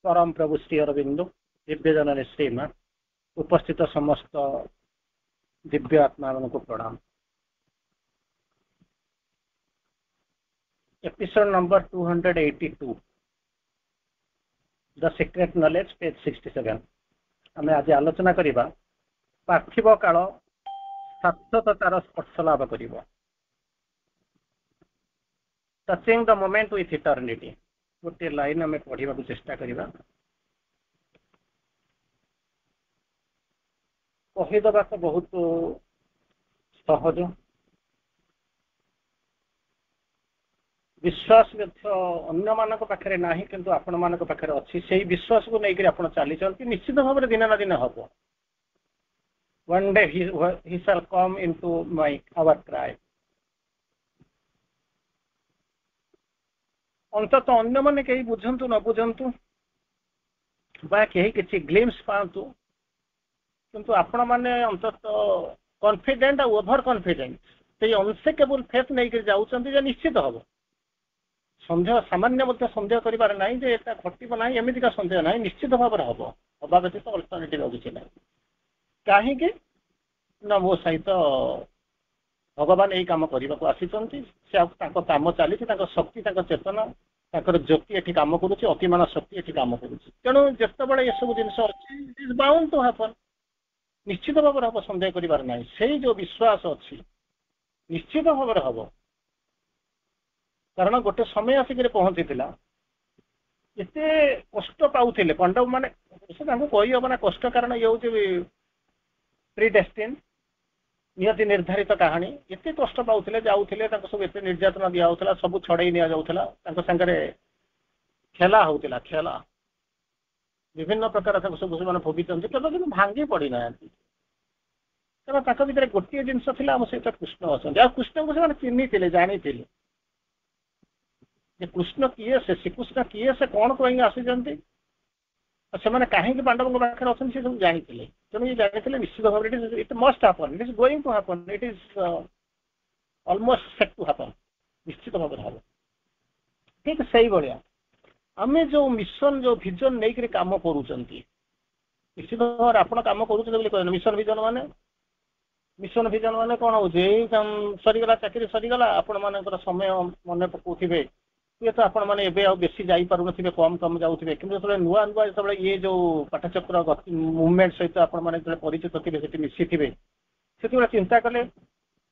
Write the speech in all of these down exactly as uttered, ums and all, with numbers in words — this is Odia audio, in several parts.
ପରମ ପ୍ରଭୁ ଶ୍ରୀ ଅରବିନ୍ଦ, ଦିବ୍ୟଜନନୀ ଶ୍ରୀମା, ଉପସ୍ଥିତ ସମସ୍ତ ଦିବ୍ୟ ଆତ୍ମାମାନଙ୍କୁ ପ୍ରଣାମ। Episode number two hundred eighty two, The Secret Knowledge, page sixty seven. ଆମେ ଆଜି ଆଲୋଚନା କରିବା ପାର୍ଥିବ କାଳ ଶାଶ୍ୱତତାର ସ୍ପର୍ଶ ଲାଭ କରିବ, touching the moment with eternity. ଗୋଟିଏ ଲାଇନ୍ ଆମେ ପଢିବାକୁ ଚେଷ୍ଟା କରିବା। କହିଦେବା ତ ବହୁତ ସହଜ, ବିଶ୍ୱାସ ମଧ୍ୟ ଅନ୍ୟମାନଙ୍କ ପାଖରେ ନାହିଁ କିନ୍ତୁ ଆପଣମାନଙ୍କ ପାଖରେ ଅଛି। ସେଇ ବିଶ୍ୱାସକୁ ନେଇକରି ଆପଣ ଚାଲିଛନ୍ତି, ନିଶ୍ଚିତ ଭାବରେ ଦିନେ ନା ଦିନେ ହବ। One day he, he shall come into my our cry. ଅନ୍ତତଃ ଅନ୍ୟମାନେ କେହି ବୁଝନ୍ତୁ ନ ବୁଝନ୍ତୁ ବା କେହି କିଛି ଗ୍ଲିମ୍ସ ପାଆନ୍ତୁ, କିନ୍ତୁ ଆପଣମାନେ ଅନ୍ତତଃ କନଫିଡେଣ୍ଟ ଆଉ ଓଭର କନଫିଡେଣ୍ଟ, ସେଇ ଅନସେକେବୁଲ ଫେଥ୍ ନେଇକରି ଯାଉଛନ୍ତି ଯେ ନିଶ୍ଚିତ ହବ। ସନ୍ଦେହ ସାମାନ୍ୟ ମଧ୍ୟ ସନ୍ଦେହ କରିବାର ନାହିଁ ଯେ ଏଟା ଘଟିବ ନାହିଁ, ଏମିତିକା ସନ୍ଦେହ ନାହିଁ, ନିଶ୍ଚିତ ଭାବରେ ହବ। ହବା ବ୍ୟତୀତ ଅଲ୍ଟରନେଟିଭ୍ ଆଉ କିଛି ନାହିଁ। କାହିଁକି ନା ମୋ ସହିତ ଭଗବାନ ଏଇ କାମ କରିବାକୁ ଆସିଛନ୍ତି, ସେ ଆଉ ତାଙ୍କ କାମ ଚାଲିଛି, ତାଙ୍କ ଶକ୍ତି, ତାଙ୍କ ଚେତନା, ତାଙ୍କର ଜ୍ୟୋତି ଏଠି କାମ କରୁଛି, ଅତିମାନ ଶକ୍ତି ଏଠି କାମ କରୁଛି। ତେଣୁ ଯେତେବେଳେ ଏସବୁ ଜିନିଷ ଅଛି, it is bound to happen, ନିଶ୍ଚିତ ଭାବରେ ହବ, ସନ୍ଦେହ କରିବାର ନାହିଁ। ସେଇ ଯୋଉ ବିଶ୍ୱାସ ଅଛି ନିଶ୍ଚିତ ଭାବରେ ହବ। କାରଣ ଗୋଟେ ସମୟ ଆସିକରି ପହଞ୍ଚିଥିଲା, ଏତେ କଷ୍ଟ ପାଉଥିଲେ ପାଣ୍ଡବ ମାନେ, ସେ ତାଙ୍କୁ କହିହବ ନା କଷ୍ଟ, କାରଣ ଇଏ ହଉଛି ପ୍ରିଡେଷ୍ଟିନ୍, ନିୟତି ନିର୍ଦ୍ଧାରିତ କାହାଣୀ। ଏତେ କଷ୍ଟ ପାଉଥିଲେ, ଯାଉଥିଲେ, ତାଙ୍କୁ ସବୁ ଏତେ ନିର୍ଯାତନା ଦିଆ ହଉଥିଲା, ସବୁ ଛଡେଇ ନିଆଯାଉଥିଲା, ତାଙ୍କ ସାଙ୍ଗରେ ଖେଲା ହଉଥିଲା, ଖେଲା ବିଭିନ୍ନ ପ୍ରକାର ତାଙ୍କୁ ସବୁ ସେମାନେ ଭୋଗିଛନ୍ତି, କେବେ କିନ୍ତୁ ଭାଙ୍ଗି ପଡିନାହାନ୍ତି। କାରଣ ତାଙ୍କ ଭିତରେ ଗୋଟିଏ ଜିନିଷ ଥିଲା, ଆମ ସହିତ କୃଷ୍ଣ ଅଛନ୍ତି। ଆଉ କୃଷ୍ଣଙ୍କୁ ସେମାନେ ଚିହ୍ନିଥିଲେ, ଜାଣିଥିଲେ ଯେ କୃଷ୍ଣ କିଏ, ସେ ଶ୍ରୀକୃଷ୍ଣ କିଏ, ସେ କଣ ପାଇଁ ଆସିଛନ୍ତି, ଆଉ ସେମାନେ କାହିଁକି ପାଣ୍ଡବଙ୍କ ପାଖରେ ଅଛନ୍ତି, ସେ ସବୁ ଜାଣିଥିଲେ। ତେଣୁ ଇଏ ଜାଣିଥିଲେ ନିଶ୍ଚିତ ଭାବରେ it is it must happen, it is going to happen, it is almost set to happen, ନିଶ୍ଚିତ ଭାବରେ ହବ। ଠିକ ସେଇଭଳିଆ ଆମେ ଯୋଉ ମିଶନ, ଯୋଉ ଭିଜନ ନେଇକରି କାମ କରୁଛନ୍ତି, ନିଶ୍ଚିତ ଭାବରେ ଆପଣ କାମ କରୁଛନ୍ତି ବୋଲି କହିଲେ। ମିଶନ ଭିଜନ ମାନେ, ମିଶନ ଭିଜନ ମାନେ କଣ ହଉଛି, ଏଇ ସରିଗଲା ଚାକିରି ସରିଗଲା, ଆପଣ ମାନଙ୍କର ସମୟ ମନେ ପକଉଥିବେ, ହୁଏତ ଆପଣ ମାନେ ଏବେ ଆଉ ବେଶୀ ଯାଇପାରୁନଥିବେ, କମ କମ ଯାଉଥିବେ, କିନ୍ତୁ ଯେତେବେଳେ ନୂଆ ନୂଆ ଯେତେବେଳେ ଇଏ ଯୋଉ ପାଠଚକ୍ର ମୁଭମେଣ୍ଟ ସହିତ ଆପଣ ମାନେ ଯେତେବେଳେ ପରିଚିତ ଥିବେ, ସେଠି ମିଶିଥିବେ, ସେତେବେଳେ ଚିନ୍ତା କଲେ,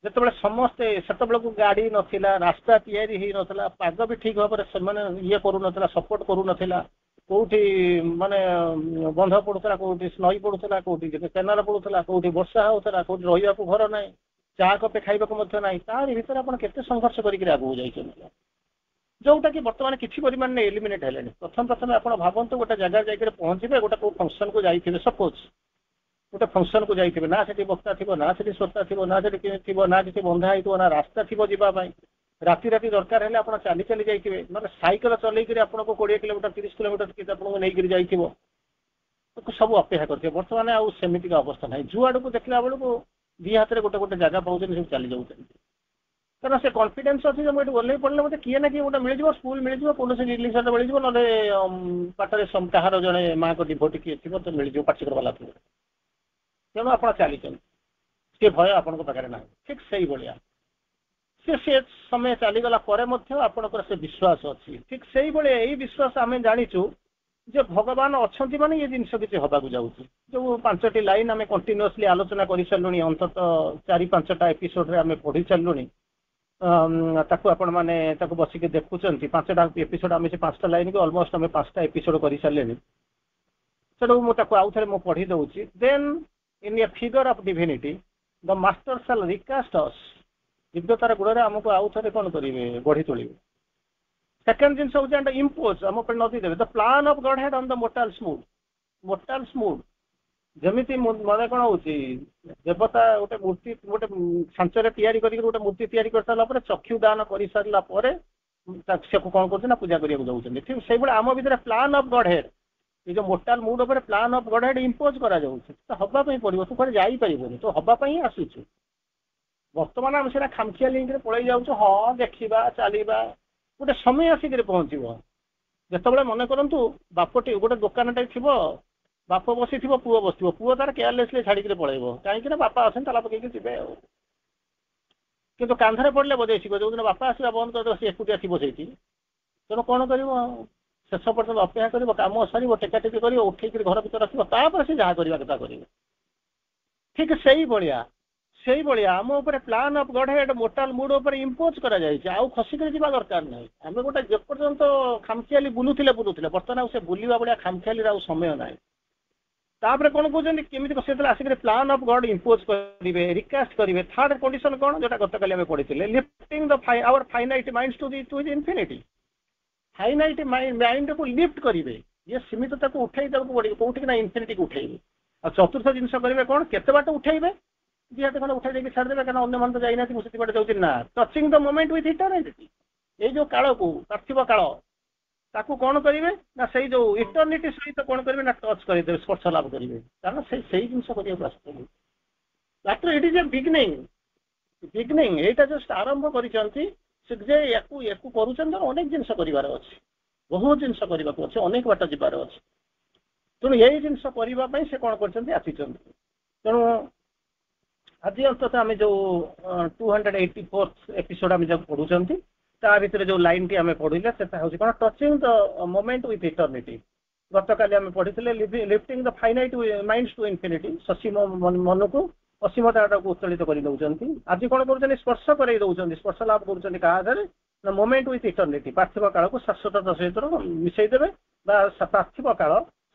ଯେତେବେଳେ ସମସ୍ତେ, ସେତେବେଳକୁ ଗାଡି ନଥିଲା, ରାସ୍ତା ତିଆରି ହେଇନଥିଲା, ପାଗ ବି ଠିକ ଭାବରେ ସେମାନେ ଇଏ କରୁନଥିଲା, ସପୋର୍ଟ କରୁନଥିଲା, କୋଉଠି ମାନେ ବନ୍ଧ ପଡୁଥିଲା, କୋଉଠି ନଈ ପଡୁଥିଲା, କୋଉଠି କେନାଲ ପଡୁଥିଲା, କୋଉଠି ବର୍ଷା ହଉଥିଲା, କୋଉଠି ରହିବାକୁ ଘର ନାହିଁ, ଚା କପେ ଖାଇବାକୁ ମଧ୍ୟ ନାହିଁ, ତାରି ଭିତରେ ଆପଣ କେତେ ସଂଘର୍ଷ କରିକି ଆଗକୁ ଯାଇଛନ୍ତି, ଯୋଉଟା କି ବର୍ତ୍ତମାନ କିଛି ପରିମାଣରେ ଏଲିମିନେଟ୍ ହେଲେଣି। ପ୍ରଥମେ ପ୍ରଥମେ ଆପଣ ଭାବନ୍ତୁ, ଗୋଟେ ଜାଗାରେ ଯାଇକରି ପହଞ୍ଚିବେ, ଗୋଟେ କୋଉ ଫଙ୍କସନକୁ ଯାଇଥିବେ, ସପୋଜ ଗୋଟେ ଫଙ୍କସନକୁ ଯାଇଥିବେ, ନା ସେଠି ବକ୍ତା ଥିବ, ନା ସେଠି ଶ୍ରୋତା ଥିବ, ନା ସେଠି ଥିବ, ନା କିଛି ବନ୍ଧା ହେଇଥିବ, ନା ରାସ୍ତା ଥିବ ଯିବା ପାଇଁ। ରାତି ରାତି ଦରକାର ହେଲେ ଆପଣ ଚାଲି ଚାଲି ଯାଇଥିବେ, ନହେଲେ ସାଇକେଲ ଚଲେଇକରି ଆପଣଙ୍କୁ କୋଡ଼ିଏ କିଲୋମିଟର ତିରିଶ କିଲୋମିଟର ଆପଣଙ୍କୁ ନେଇକରି ଯାଇଥିବ, ସବୁ ଅପେକ୍ଷା କରିଥିବ। ବର୍ତ୍ତମାନ ଆଉ ସେମିତିକା ଅବସ୍ଥା ନାହିଁ, ଯୁଆଡ଼କୁ ଦେଖିଲା ବେଳକୁ ଦି ହାତରେ ଗୋଟେ ଗୋଟେ ଜାଗା ପାଉଛନ୍ତି, ସବୁ ଚାଲି ଯାଉଛନ୍ତି। କାରଣ ସେ କନଫିଡେନ୍ସ ଅଛି ଯେ ମୁଁ ଏଠି ଓହ୍ଲେଇ ପଡ଼ିଲେ ମୋତେ କିଏ ନା କିଏ ଗୋଟେ ମିଳିଯିବ, ସ୍କୁଲ ମିଳିଯିବ, କୌଣସି ରିଲିଜନ ମିଳିଯିବ, ନହେଲେ ବାଟରେ କାହାର ଜଣେ ମାଆଙ୍କ ଡିଭୋଟି କିଏ ଥିବ ତ ମିଳିଯିବ, ପାଠଚକ୍ର ବାଲା ଥିବ। ତେଣୁ ଆପଣ ଚାଲିଛନ୍ତି, ସେ ଭୟ ଆପଣଙ୍କ ପାଖରେ ନାହିଁ। ଠିକ ସେଇଭଳିଆ ସେ ସେ ସମୟ ଚାଲିଗଲା ପରେ ମଧ୍ୟ ଆପଣଙ୍କର ସେ ବିଶ୍ୱାସ ଅଛି। ଠିକ ସେଇଭଳିଆ ଏଇ ବିଶ୍ୱାସ ଆମେ ଜାଣିଛୁ ଯେ ଭଗବାନ ଅଛନ୍ତି ମାନେ ଇଏ ଜିନିଷ କିଛି ହବାକୁ ଯାଉଛି। ଯୋଉ ପାଞ୍ଚଟି ଲାଇନ ଆମେ କଣ୍ଟିନ୍ୟୁଅସଲି ଆଲୋଚନା କରିସାରିଲୁଣି, ଅନ୍ତତଃ ଚାରି ପାଞ୍ଚଟା ଏପିସୋଡରେ ଆମେ ପଢି ସାରିଲୁଣି, ତାକୁ ଆପଣମାନେ ତାକୁ ବସିକି ଦେଖୁଛନ୍ତି। ପାଞ୍ଚଟା ଏପିସୋଡ ଆମେ ସେ ପାଞ୍ଚଟା ଲାଇନକୁ ଅଲମୋଷ୍ଟ ଆମେ ପାଞ୍ଚଟା ଏପିସୋଡ କରିସାରିଲେଣି। ସେଠୁ ମୁଁ ତାକୁ ଆଉ ଥରେ ମୁଁ ପଢି ଦଉଛି। Then in a figure of divinity the master shall recast us, ଦିବ୍ୟତାର ଗୁଣରେ ଆମକୁ ଆଉ ଥରେ କଣ କରିବେ, ଗଢି ତୋଳିବେ। ସେକେଣ୍ଡ ଜିନିଷ ହଉଛି ଆଣ୍ଡ ଇମ୍ପୋଜ, ଆମ ଉପରେ ନଦୀ ଦେବେ, the plan of Godhead on the mortal's mood. Mortal's mood ଯେମିତି ମାନେ କଣ ହଉଛି, ଦେବତା ଗୋଟେ ମୂର୍ତ୍ତି ଗୋଟେ ଛାଞ୍ଚରେ ତିଆରି କରିକି ଗୋଟେ ମୂର୍ତ୍ତି ତିଆରି କରିସାରିଲା ପରେ, ଚକ୍ଷୁ ଦାନ କରିସାରିଲା ପରେ ସେକୁ କଣ କରୁଛନ୍ତି ନା ପୂଜା କରିବାକୁ ଯାଉଛନ୍ତି। ଠିକ ସେଇଭଳି ଆମ ଭିତରେ ପ୍ଲାନ୍ ଅଫ ଗଡ୍ ହେଡ୍, ଏ ଯୋଉ ମୋର୍ଟାଲ ମୁଡ୍ ଉପରେ plan of Godhead impose କରାଯାଉଛି। ତ ହବା ପାଇଁ ପଡିବ, ତୁ କୁଆଡେ ଯାଇପାରିବୁନି, ତୁ ହବା ପାଇଁ ହିଁ ଆସିଛୁ। ବର୍ତ୍ତମାନ ଆମେ ସେଇଟା ଖାମଖିଆଲି ହେଇକିରି ପଳେଇ ଯାଉଛୁ, ହଁ ଦେଖିବା ଚାଲିବା, ଗୋଟେ ସମୟ ଆସିକିରି ପହଞ୍ଚିବ। ଯେତେବେଳେ ମନେ କରନ୍ତୁ ବାପଟି ଗୋଟେ ଦୋକାନଟେ ଥିବ ବାପ ବସିଥିବ ପୁଅ ବସିଥିବ ପୁଅ ତାର କେୟାରଲେସଲି ଛାଡିକିରି ପଳେଇବ କାହିଁକି ନା ବାପା ଅଛନ୍ତି ତାଲା ପକେଇକି ଯିବେ ଆଉ କିନ୍ତୁ କାନ୍ଧରେ ପଡିଲେ ବଜେଇ ଶିଖିବ ଯୋଉଦିନ ବାପା ଆସିବା ବନ୍ଦ କରିଦେବ ସେ ଏକୁଟିଆ ଥିବ ସେଇଠି ତେଣୁ କଣ କରିବ ଶେଷ ପର୍ଯ୍ୟନ୍ତ ଅପେକ୍ଷା କରିବ କାମ ସରିବ ଟେକା ଟେକି କରିବ ଉଠେଇକିରି ଘର ଭିତରେ ରଖିବ ତାପରେ ସେ ଯାହା କରିବା କଥା କରିବ ଠିକ ସେଇଭଳିଆ ସେଇଭଳିଆ ଆମ ଉପରେ plan of Godhead mortal mood ଉପରେ ଇମ୍ପୋଜ କରାଯାଇଛି ଆଉ ଖସିକରି ଯିବା ଦରକାର ନାହିଁ ଆମେ ଗୋଟେ ଯେପର୍ଯ୍ୟନ୍ତ ଖାମଖିଆଲି ବୁଲୁଥିଲେ ବୁଲୁଥିଲେ ବର୍ତ୍ତମାନ ଆଉ ସେ ବୁଲିବା ଭଳିଆ ଖାମଖିଆଲିର ଆଉ ସମୟ ନାହିଁ ତାପରେ କଣ କହୁଛନ୍ତି କେମିତି ସେତେବେଳେ ଆସିକରି ପ୍ଲାନ୍ ଅଫ୍ ଗଡ୍ ଇମ୍ପୋଜ କରିବେ ରିକାଷ୍ଟ କରିବେ ଥାର୍ଡ କଣ୍ଡିସନ କଣ ଯୋଉଟା ଗତକାଲି ଆମେ ପଢିଥିଲେ lifting the our finite minds to the to infinity finite ମାଇଣ୍ଡକୁ ଲିଫ୍ଟ କରିବେ ଇଏ ସୀମିତତାକୁ ଉଠେଇ ଦେବାକୁ ପଡିବ କୋଉଠିକି ନା ଇନଫିନିଟିକୁ ଉଠେଇବେ ଆଉ ଚତୁର୍ଥ ଜିନିଷ କରିବେ କଣ କେତେ ବାଟ ଉଠେଇବେ ଦି ହାତ ଖଣ୍ଡେ ଉଠେଇ ଦେଇକି ଛାଡ଼ିଦେବେ କାରଣ ଅନ୍ୟମାନେ ତ ଯାଇନାହାନ୍ତି ମୁଁ ସେତିକି ବାଟ ଯାଉଛି ନା touching the moment with eternity ଏଇ ଯୋଉ କାଳକୁ ପାର୍ଥିବ କାଳ ତାକୁ କଣ କରିବେ ନା ସେଇ ଯୋଉ ଇଟର୍ନିଟି ସହିତ କଣ କରିବେ ନା ଟଚ୍ କରିଦେବେ ସ୍ପର୍ଶ ଲାଭ କରିବେ କାରଣ ସେ ସେଇ ଜିନିଷ କରିବାକୁ ଆସୁଛନ୍ତି ମାତ୍ର it is a beginning beginning ଏଇଟା ଜଷ୍ଟ ଆରମ୍ଭ କରିଛନ୍ତି ସେ ଯେ ୟାକୁ ୟାକୁ କରୁଛନ୍ତି ଅନେକ ଜିନିଷ କରିବାର ଅଛି ବହୁତ ଜିନିଷ କରିବାକୁ ଅଛି ଅନେକ ବାଟ ଯିବାର ଅଛି ତେଣୁ ଏଇ ଜିନିଷ କରିବା ପାଇଁ ସେ କଣ କରିଛନ୍ତି ଆସିଛନ୍ତି ତେଣୁ ଆଜି ଅନ୍ତତଃ ଆମେ ଯୋଉ two hundred eighty fourth episode ଆମେ ଯୋଉ ପଢୁଛନ୍ତି ତା ଭିତରେ ଯୋଉ ଲାଇନଟି ଆମେ ପଢିଲେ ସେଟା ହଉଛି କଣ touching the moment with eternity ଗତକାଲି ଆମେ ପଢିଥିଲେ lifting the finite minds to infinity ସସୀମ ମନକୁ ଅସୀମତାଟାକୁ ଉତ୍ତୋଳିତ କରି ଦଉଛନ୍ତି ଆଜି କଣ କରୁଛନ୍ତି ସ୍ପର୍ଶ କରେଇ ଦଉଛନ୍ତି ସ୍ପର୍ଶ ଲାଭ କରୁଛନ୍ତି କାହା ଦେହରେ ନା ମୋମେଣ୍ଟ ୱିଥ୍ ଇଟର୍ନିଟି ପାର୍ଥିବ କାଳକୁ ଶାଶ୍ୱତତା ସହିତ ମିଶେଇ ଦେବେ ବା ପାର୍ଥିବ କାଳ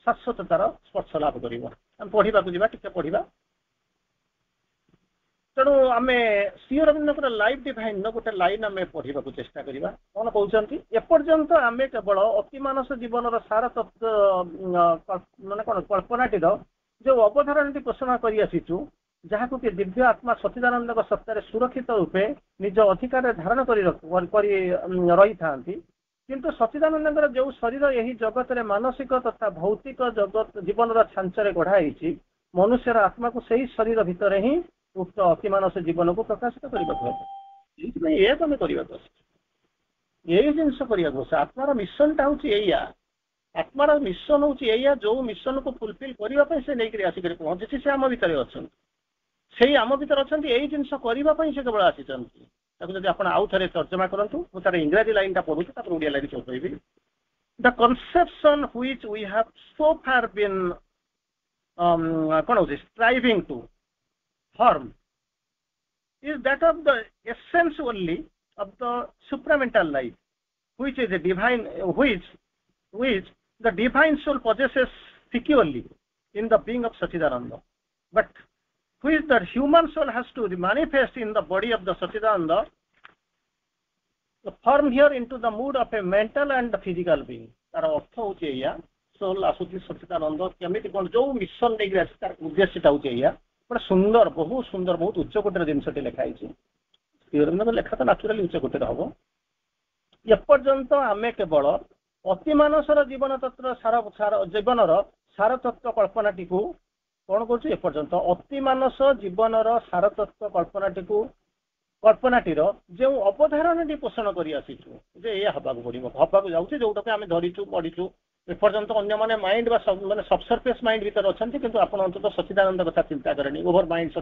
ଶାଶ୍ୱତତାର ସ୍ପର୍ଶ ଲାଭ କରିବ ଆମେ ପଢିବାକୁ ଯିବା ଟିକେ ପଢିବା ତେଣୁ ଆମେ ଶ୍ରୀ ଅରବିନ୍ଦଙ୍କର ଲାଇଫ୍ ଡିଭାଇନର ଗୋଟେ ଲାଇନ ଆମେ ପଢିବାକୁ ଚେଷ୍ଟା କରିବା କଣ କହୁଛନ୍ତି ଏପର୍ଯ୍ୟନ୍ତ ଆମେ କେବଳ ଅତିମାନସ ଜୀବନର ସାର ତତ୍ତ୍ୱ ମାନେ କଣ କଳ୍ପନାଟିର ଯୋଉ ଅବଧାରଣାଟି ପୋଷଣ କରି ଆସିଛୁ ଯାହାକୁ କି ଦିବ୍ୟ ଆତ୍ମା ସଚିଦାନନ୍ଦଙ୍କ ସତ୍ତାରେ ସୁରକ୍ଷିତ ରୂପେ ନିଜ ଅଧିକାରରେ ଧାରଣ କରି କରି ରହିଥାନ୍ତି କିନ୍ତୁ ସଚିଦାନନ୍ଦଙ୍କର ଯୋଉ ଶରୀର ଏହି ଜଗତରେ ମାନସିକ ତଥା ଭୌତିକ ଜଗତ ଜୀବନର ଛାଞ୍ଚରେ ଗଢା ହେଇଛି ମନୁଷ୍ୟର ଆତ୍ମାକୁ ସେଇ ଶରୀର ଭିତରେ ହିଁ ଉକ୍ତ ଅତିମାନସ ଜୀବନକୁ ପ୍ରକାଶିତ କରିବାକୁ ହେବ ଏଇଥିପାଇଁ ଏଇଆକୁ ଆମେ କରିବାକୁ ଆସିଛୁ ଏଇ ଜିନିଷ କରିବାକୁ ଆସୁଛୁ ଆତ୍ମାର ମିଶନଟା ହଉଛି ଏଇଆ ଆତ୍ମାର ମିଶନ ହଉଛି ଏଇଆ ଯୋଉ ମିଶନକୁ ଫୁଲଫିଲ କରିବା ପାଇଁ ସେ ନେଇକରି ଆସିକରି ପହଞ୍ଚିଛି ସେ ଆମ ଭିତରେ ଅଛନ୍ତି ସେଇ ଆମ ଭିତରେ ଅଛନ୍ତି ଏଇ ଜିନିଷ କରିବା ପାଇଁ ସେ କେବଳ ଆସିଛନ୍ତି ତାକୁ ଯଦି ଆପଣ ଆଉ ଥରେ ତର୍ଜମା କରନ୍ତୁ ମୁଁ ତାର ଇଂରାଜୀ ଲାଇନଟା ପଢୁଛି ତାପରେ ଓଡ଼ିଆ ଲାଇନ ସବୁ କହିବି the conception which we have so far been କଣ ହଉଛି striving to form is that of the essence only of the supramental life which is a divine which which the divine soul possesses securely in the being of Sachidananda but which the human soul has to manifest in the body of the Sachidananda the form here into the mood of a mental and physical being ତାର ଅର୍ଥ ହଉଛି ଏଇଆ ସୋଲ ଆସୁଛି ସଚିଦାନନ୍ଦ କେମିତି କଣ ଯୋଉ ମିଶନ ନେଇକି ଆସିଛି ତାର ଉଦ୍ଦେଶ୍ୟଟା ହଉଛି ଏଇଆ ଗୋଟେ ସୁନ୍ଦର ବହୁତ ସୁନ୍ଦର ବହୁତ ଉଚ୍ଚ କୋଟିର ଜିନିଷଟି ଲେଖା ହେଇଛି ଶ୍ରୀ ଲେଖା ତ ନାଚୁରାଲି ଉଚ୍ଚ କୋଟିର ହବ ଏପର୍ଯ୍ୟନ୍ତ ଆମେ କେବଳ ଅତିମାନସର ଜୀବନ ତତ୍ତ୍ୱ ସାର ସାର ଜୀବନର ସାର ତତ୍ତ୍ୱ କଳ୍ପନାଟିକୁ କଣ କରୁଛୁ ଏପର୍ଯ୍ୟନ୍ତ ଅତିମାନସ ଜୀବନର ସାର ତତ୍ତ୍ୱ କଳ୍ପନାଟିକୁ କଳ୍ପନାଟିର ଯେଉଁ ଅବଧାରଣାଟି ପୋଷଣ କରି ଆସିଛୁ ଯେ ଏଇଆ ହବାକୁ ପଡିବ ହବାକୁ ଯାଉଛି ଯୋଉଟାକୁ ଆମେ ଧରିଛୁ ପଢିଛୁ ଏପର୍ଯ୍ୟନ୍ତ ଅନ୍ୟମାନେ ମାଇଣ୍ଡ ବା ମାନେ ସବସର୍ଫେସ୍ ମାଇଣ୍ଡ ଭିତରେ ଅଛନ୍ତି କିନ୍ତୁ ଆପଣ ଅନ୍ତତଃ ସଚିଦାନନ୍ଦ କଥା ଚିନ୍ତା କରେନି ଓଭର ମାଇଣ୍ଡ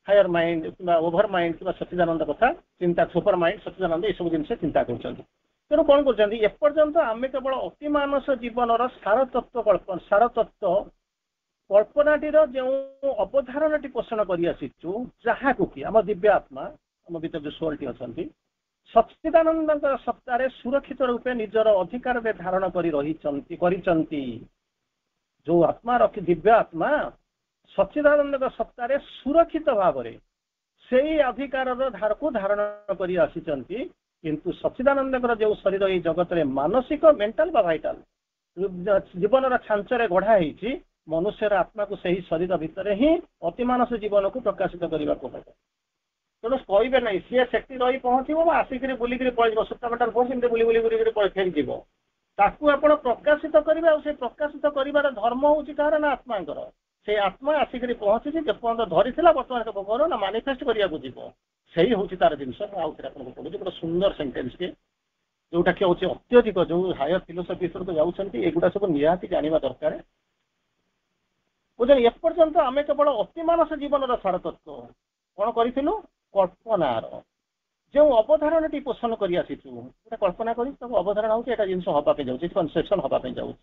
ହାୟର ମାଇଣ୍ଡ କିମ୍ବା ଓଭର ମାଇଣ୍ଡ କିମ୍ବା ସଚିଦାନନ୍ଦ କଥା ଚିନ୍ତା ସୁପର ମାଇଣ୍ଡ ସଚିଦାନନ୍ଦ ଏସବୁ ଜିନିଷ ଚିନ୍ତା କରୁଛନ୍ତି ତେଣୁ କଣ କରୁଛନ୍ତି ଏପର୍ଯ୍ୟନ୍ତ ଆମେ କେବଳ ଅତିମାନସ ଜୀବନର ସାର ତତ୍ତ୍ୱ କଳ୍ପନା ସାର ତତ୍ତ୍ୱ କଳ୍ପନାଟିର ଯେଉଁ ଅବଧାରଣାଟି ପୋଷଣ କରି ଆସିଛୁ ଯାହାକୁ କି ଆମ ଦିବ୍ୟ ଆତ୍ମା ଆମ ଭିତରେ ଯୋଉ ସୋଲଟି ଅଛନ୍ତି ସଚ୍ଚିଦାନନ୍ଦଙ୍କର ସତ୍ତାରେ ସୁରକ୍ଷିତ ରୂପେ ନିଜର ଅଧିକାରରେ ଧାରଣ କରି ରହିଛନ୍ତି କରିଛନ୍ତି ଯୋଉ ଆତ୍ମା ରଖି ଦିବ୍ୟ ଆତ୍ମା ସଚ୍ଚିଦାନନ୍ଦଙ୍କ ସତ୍ତାରେ ସୁରକ୍ଷିତ ଭାବରେ ସେଇ ଅଧିକାରର ଧାରକୁ ଧାରଣ କରି ଆସିଛନ୍ତି କିନ୍ତୁ ସଚ୍ଚିଦାନନ୍ଦଙ୍କର ଯୋଉ ଶରୀର ଏଇ ଜଗତରେ ମାନସିକ ମେଣ୍ଟାଲ ବା ଭାଇଟାଲ ଜୀବନର ଛାଞ୍ଚରେ ଗଢା ହେଇଛି ମନୁଷ୍ୟର ଆତ୍ମାକୁ ସେହି ଶରୀର ଭିତରେ ହିଁ ଅତିମାନସ ଜୀବନକୁ ପ୍ରକାଶିତ କରିବାକୁ ହେବ ତେଣୁ କହିବେ ନାହିଁ ସିଏ ସେଠି ରହି ପହଞ୍ଚିବ ବା ଆସିକିରି ବୁଲିକିରି ପଳେଇଯିବ ସୁପ୍ରାମେଣ୍ଟାଲ ଫୋର୍ସ ଏମିତି ବୁଲି ବୁଲି ବୁଲିକିରି ଫେରିଯିବ ତାକୁ ଆପଣ ପ୍ରକାଶିତ କରିବେ ଆଉ ସେ ପ୍ରକାଶିତ କରିବାର ଧର୍ମ ହଉଛି କାହାର ନା ଆତ୍ମାଙ୍କର ସେଇ ଆତ୍ମା ଆସିକିରି ପହଞ୍ଚିଛି ଯେପର୍ଯ୍ୟନ୍ତ ଧରିଥିଲା ବର୍ତ୍ତମାନ ସେ କଣ ନା ମାନିଫେଷ୍ଟ କରିବାକୁ ଯିବ ସେଇ ହଉଛି ତାର ଜିନିଷ ମୁଁ ଆଉ ଥରେ ଆପଣଙ୍କୁ ପଢୁଛି ଗୋଟେ ସୁନ୍ଦର ସେଣ୍ଟେନ୍ସ କି ଯୋଉଟା କି ହଉଛି ଅତ୍ୟଧିକ ଯୋଉ ହାୟର ଫିଲୋସଫି ଭିତରକୁ ଯାଉଛନ୍ତି ଏଗୁଡ଼ା ସବୁ ନିହାତି ଜାଣିବା ଦରକାର ବୁଝିଲେ ଏପର୍ଯ୍ୟନ୍ତ ଆମେ କେବଳ ଅତିମାନସ ଜୀବନର ସାରତତ୍ଵ କଣ କରିଥିଲୁ କଳ୍ପନାର ଯେଉଁ ଅବଧାରଣାଟି ପୋଷଣ କରି ଆସିଛୁ ଗୋଟେ କଳ୍ପନା କରି ତାକୁ ଅବଧାରଣା ହଉଛି ଏଟା ଜିନିଷ ହବା ପାଇଁ ଯାଉଛି କନସେପସନ ହବା ପାଇଁ ଯାଉଛି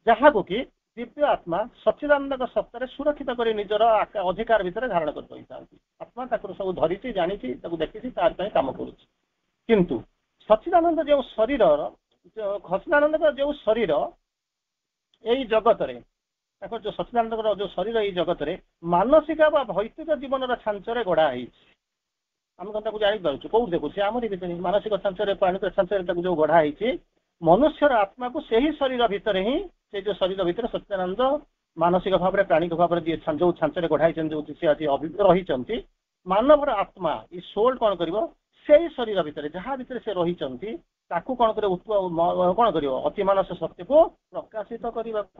ଯାହାକୁ କି ଦିବ୍ୟ ଆତ୍ମା ସଚ୍ଚିଦାନନ୍ଦଙ୍କ ସତ୍ତାରେ ସୁରକ୍ଷିତ କରି ନିଜର ଅଧିକାର ଭିତରେ ଧାରଣ କରି ରହିଥାନ୍ତି ଆତ୍ମା ତାକୁ ସବୁ ଧରିଛି ଜାଣିଛି ତାକୁ ଦେଖିଛି ତାର ପାଇଁ କାମ କରୁଛି କିନ୍ତୁ ସଚ୍ଚିଦାନନ୍ଦ ଯେଉଁ ଶରୀରର ସଚ୍ଚିଦାନନ୍ଦଙ୍କର ଯେଉଁ ଶରୀର ଏଇ ଜଗତରେ ତାଙ୍କର ଯୋଉ ସଚ୍ଚିଦାନନ୍ଦଙ୍କର ଯୋଉ ଶରୀର ଏଇ ଜଗତରେ ମାନସିକ ବା ଭୌତିକ ଜୀବନର ଛାଞ୍ଚରେ ଗଢା ହେଇଛି ଆମେ କଣ ତାକୁ ଜାଣିପାରୁଛୁ କୋଉଠି ଦେଖୁଛୁ ଆମରି ଭିତରେ ମାନସିକ ଛାଞ୍ଚରେ ପ୍ରାଣିକ ଛାଞ୍ଚରେ ତାକୁ ଯୋଉ ଗଢା ହେଇଛି ମନୁଷ୍ୟର ଆତ୍ମାକୁ ସେହି ଶରୀର ଭିତରେ ହିଁ ସେ ଯୋଉ ଶରୀର ଭିତରେ ସଚ୍ଚିଦାନନ୍ଦ ମାନସିକ ଭାବରେ ପ୍ରାଣିକ ଭାବରେ ଯିଏ ଯୋଉ ଛାଞ୍ଚରେ ଗଢା ହେଇଛନ୍ତି ଯୋଉ ସେ ଆଜି ରହିଛନ୍ତି ମାନବର ଆତ୍ମା ଏଇ ସୋଲ କଣ କରିବ ସେଇ ଶରୀର ଭିତରେ ଯାହା ଭିତରେ ସେ ରହିଛନ୍ତି ତାକୁ କଣ କରିବ କଣ କରିବ ଅତିମାନସ ଶକ୍ତିକୁ ପ୍ରକାଶିତ କରିବାକୁ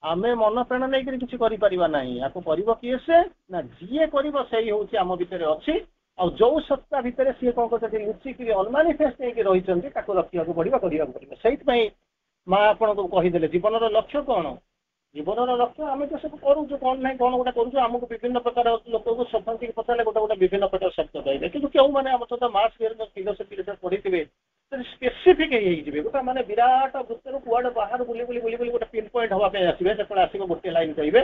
ଆମେ ମନ ପ୍ରାଣ ନେଇକରି କିଛି କରିପାରିବା ନାହିଁ ଆକୁ କରିବ କିଏ ସେ ନା ଯିଏ କରିବ ସେଇ ହଉଛି ଆମ ଭିତରେ ଅଛି ଆଉ ଯୋଉ ସତ୍ତା ଭିତରେ ସିଏ କଣ କରୁଛନ୍ତି ଲୁଚିକିରି ଅନମାନିଫେଷ୍ଟ ହେଇକି ରହିଛନ୍ତି ତାକୁ ରଖିବାକୁ ପଡିବ କରିବାକୁ ପଡିବ ସେଇଥିପାଇଁ ମା ଆପଣଙ୍କୁ କହିଦେଲେ ଜୀବନର ଲକ୍ଷ୍ୟ କଣ ଜୀବନର ଲକ୍ଷ୍ୟ ଆମେ ତ ସବୁ କରୁଛୁ କଣ ନାହିଁ କଣ ଗୋଟେ କରୁଛୁ ଆମକୁ ବିଭିନ୍ନ ପ୍ରକାର ଲୋକକୁ ସଫାନ୍ତି ପଚାରିଲେ ଗୋଟେ ଗୋଟେ ବିଭିନ୍ନ ପ୍ରକାର ଶବ୍ଦ କହିବେ କିନ୍ତୁ କେଉଁମାନେ ଆମ ସହିତ ମାର୍କସ ଫିଲୋସଫି ପଢିଥିବେ ସ୍ପେସିଫିକ ହେଇଯିବେ ଗୋଟେ ମାନେ ବିରାଟ ବୃତ୍ତରୁ କୁଆଡେ ବାହାରୁ ବୁଲି ବୁଲି ବୁଲି ବୁଲି ଗୋଟେ ପିନ୍ ପଏଣ୍ଟ ହବା ପାଇଁ ଆସିବେ ସେତେବେଳେ ଆସିବ ଗୋଟେ ଲାଇନ୍ କହିବେ